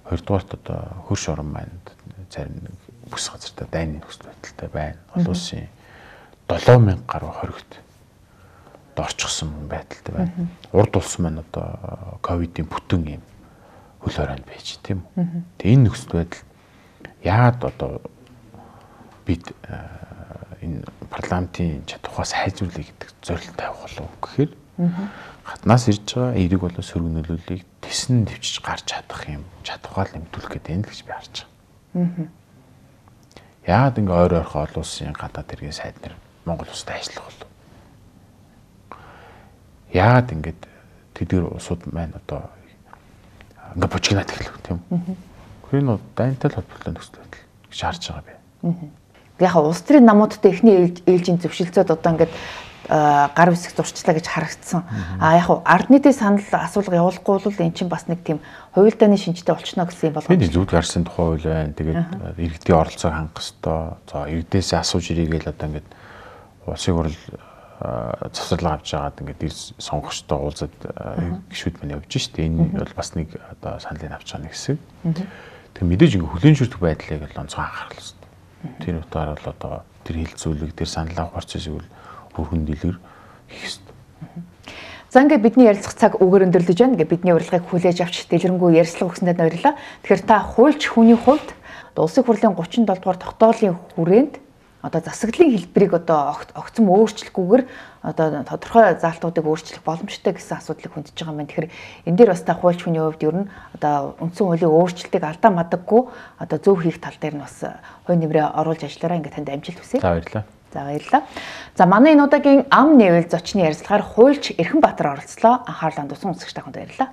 Хоёрдугаарт одоо хөрш орон маань зарим бүс газартаа дайны нөхцөл байдалтай байна. Олон улсын 7000 гаруй хоригт орчихсон байдалтай байна. Урд улс маань одоо ковидын бүтэн юм хөл хоройнд байж тийм үү. Тэгээ энэ нөхцөл байдал яагаад одоо бид энэ парламентын чадвараа сайжруулах гэдэг зорилт тавих болов гэхээр гаднаас ирж байгаа эерэг болон сөрөг нөлөөллийг тэсэн төвчж гарч чадах юм чадвараа нэмтүүлэх гэдэг энэ л гэж би харж байгаа. Яагаад ингээ ойр ойрхон олон улсын гадаад иргэн сайд нар Монгол улсад ажиллах болов? Яагаад ингээд тэдгээр улсууд маань одоо ингээ бочигнаад эхлэв тийм үү. Тэр нь дайнтай холбоотой нөхцөл байдал гэж харж байгаа би. Яг улс төрийн намуудтай эхний ээлжийн зөвшөлтсөд одоо ингээд гар үсэг зурчлаа гэж харагдсан. Яг ард нийтийн санал асуулга явуулахгүй бол эн чинь бас нэг тийм хувилдааны шинжтэй болчихно гэсэн юм болгоо. Тийм зүуд гарсан тухай хууль байна. Тэгээд иргэдийн оролцоог хангах ёстой. За иргэдээс асууж ирээгээл одоо ингээд улсын хурл завсарлага авч жагаад ингээд сонгогчтой уулзаад гишүүд мань явж штэ. Энэ бол бас нэг одоо саналын авч байгаа нэг хэсэг. Тэг мэдээж ингээд хүлэн зөвшөөрөх байдлыг л онцгой анхаарах хэрэгтэй. Тэр утгаар бол одоо тэр хилцүүлэг, тэр санал авах процессыг өргөн дэлгэр хийх хэрэгтэй. За ингээд бидний ярилцах цаг үгээр өндөрлөж байна. Ингээд бидний урилгыг хүлээж авч дэлгэрэнгүй ярилцлага өгсөндөө баярлалаа. Тэгэхээр та хуульч хүний хувьд улсын хурлын 37 дугаар тогтоолын хүрээнд одоо засаглалын хэлбэрийг одоо огцом өөрчлөхгүйгээр одоо тодорхой заалтуудыг өөрчлөх боломжтой гэсэн асуудлыг хөндөж байгаа юм байна. Тэгэхээр энэ дээр бас та хуульч хүний хувьд ер нь одоо үндсэн хуулийн өөрчлөлтийг алдаа мадаггүй одоо зөв хийх тал дээр нь бас хувь нэмрээ оруулж ажиллаараа ингээд танд амжилт хүсье. За баярлалаа. За баярлалаа. За манай энэ удаагийн ам нэвэл зочны ярилцлагаар хуульч Эрхэнбаатар оролцлоо. Анхаарлаа хандуулсан үзэгч та бүхэнд баярлалаа.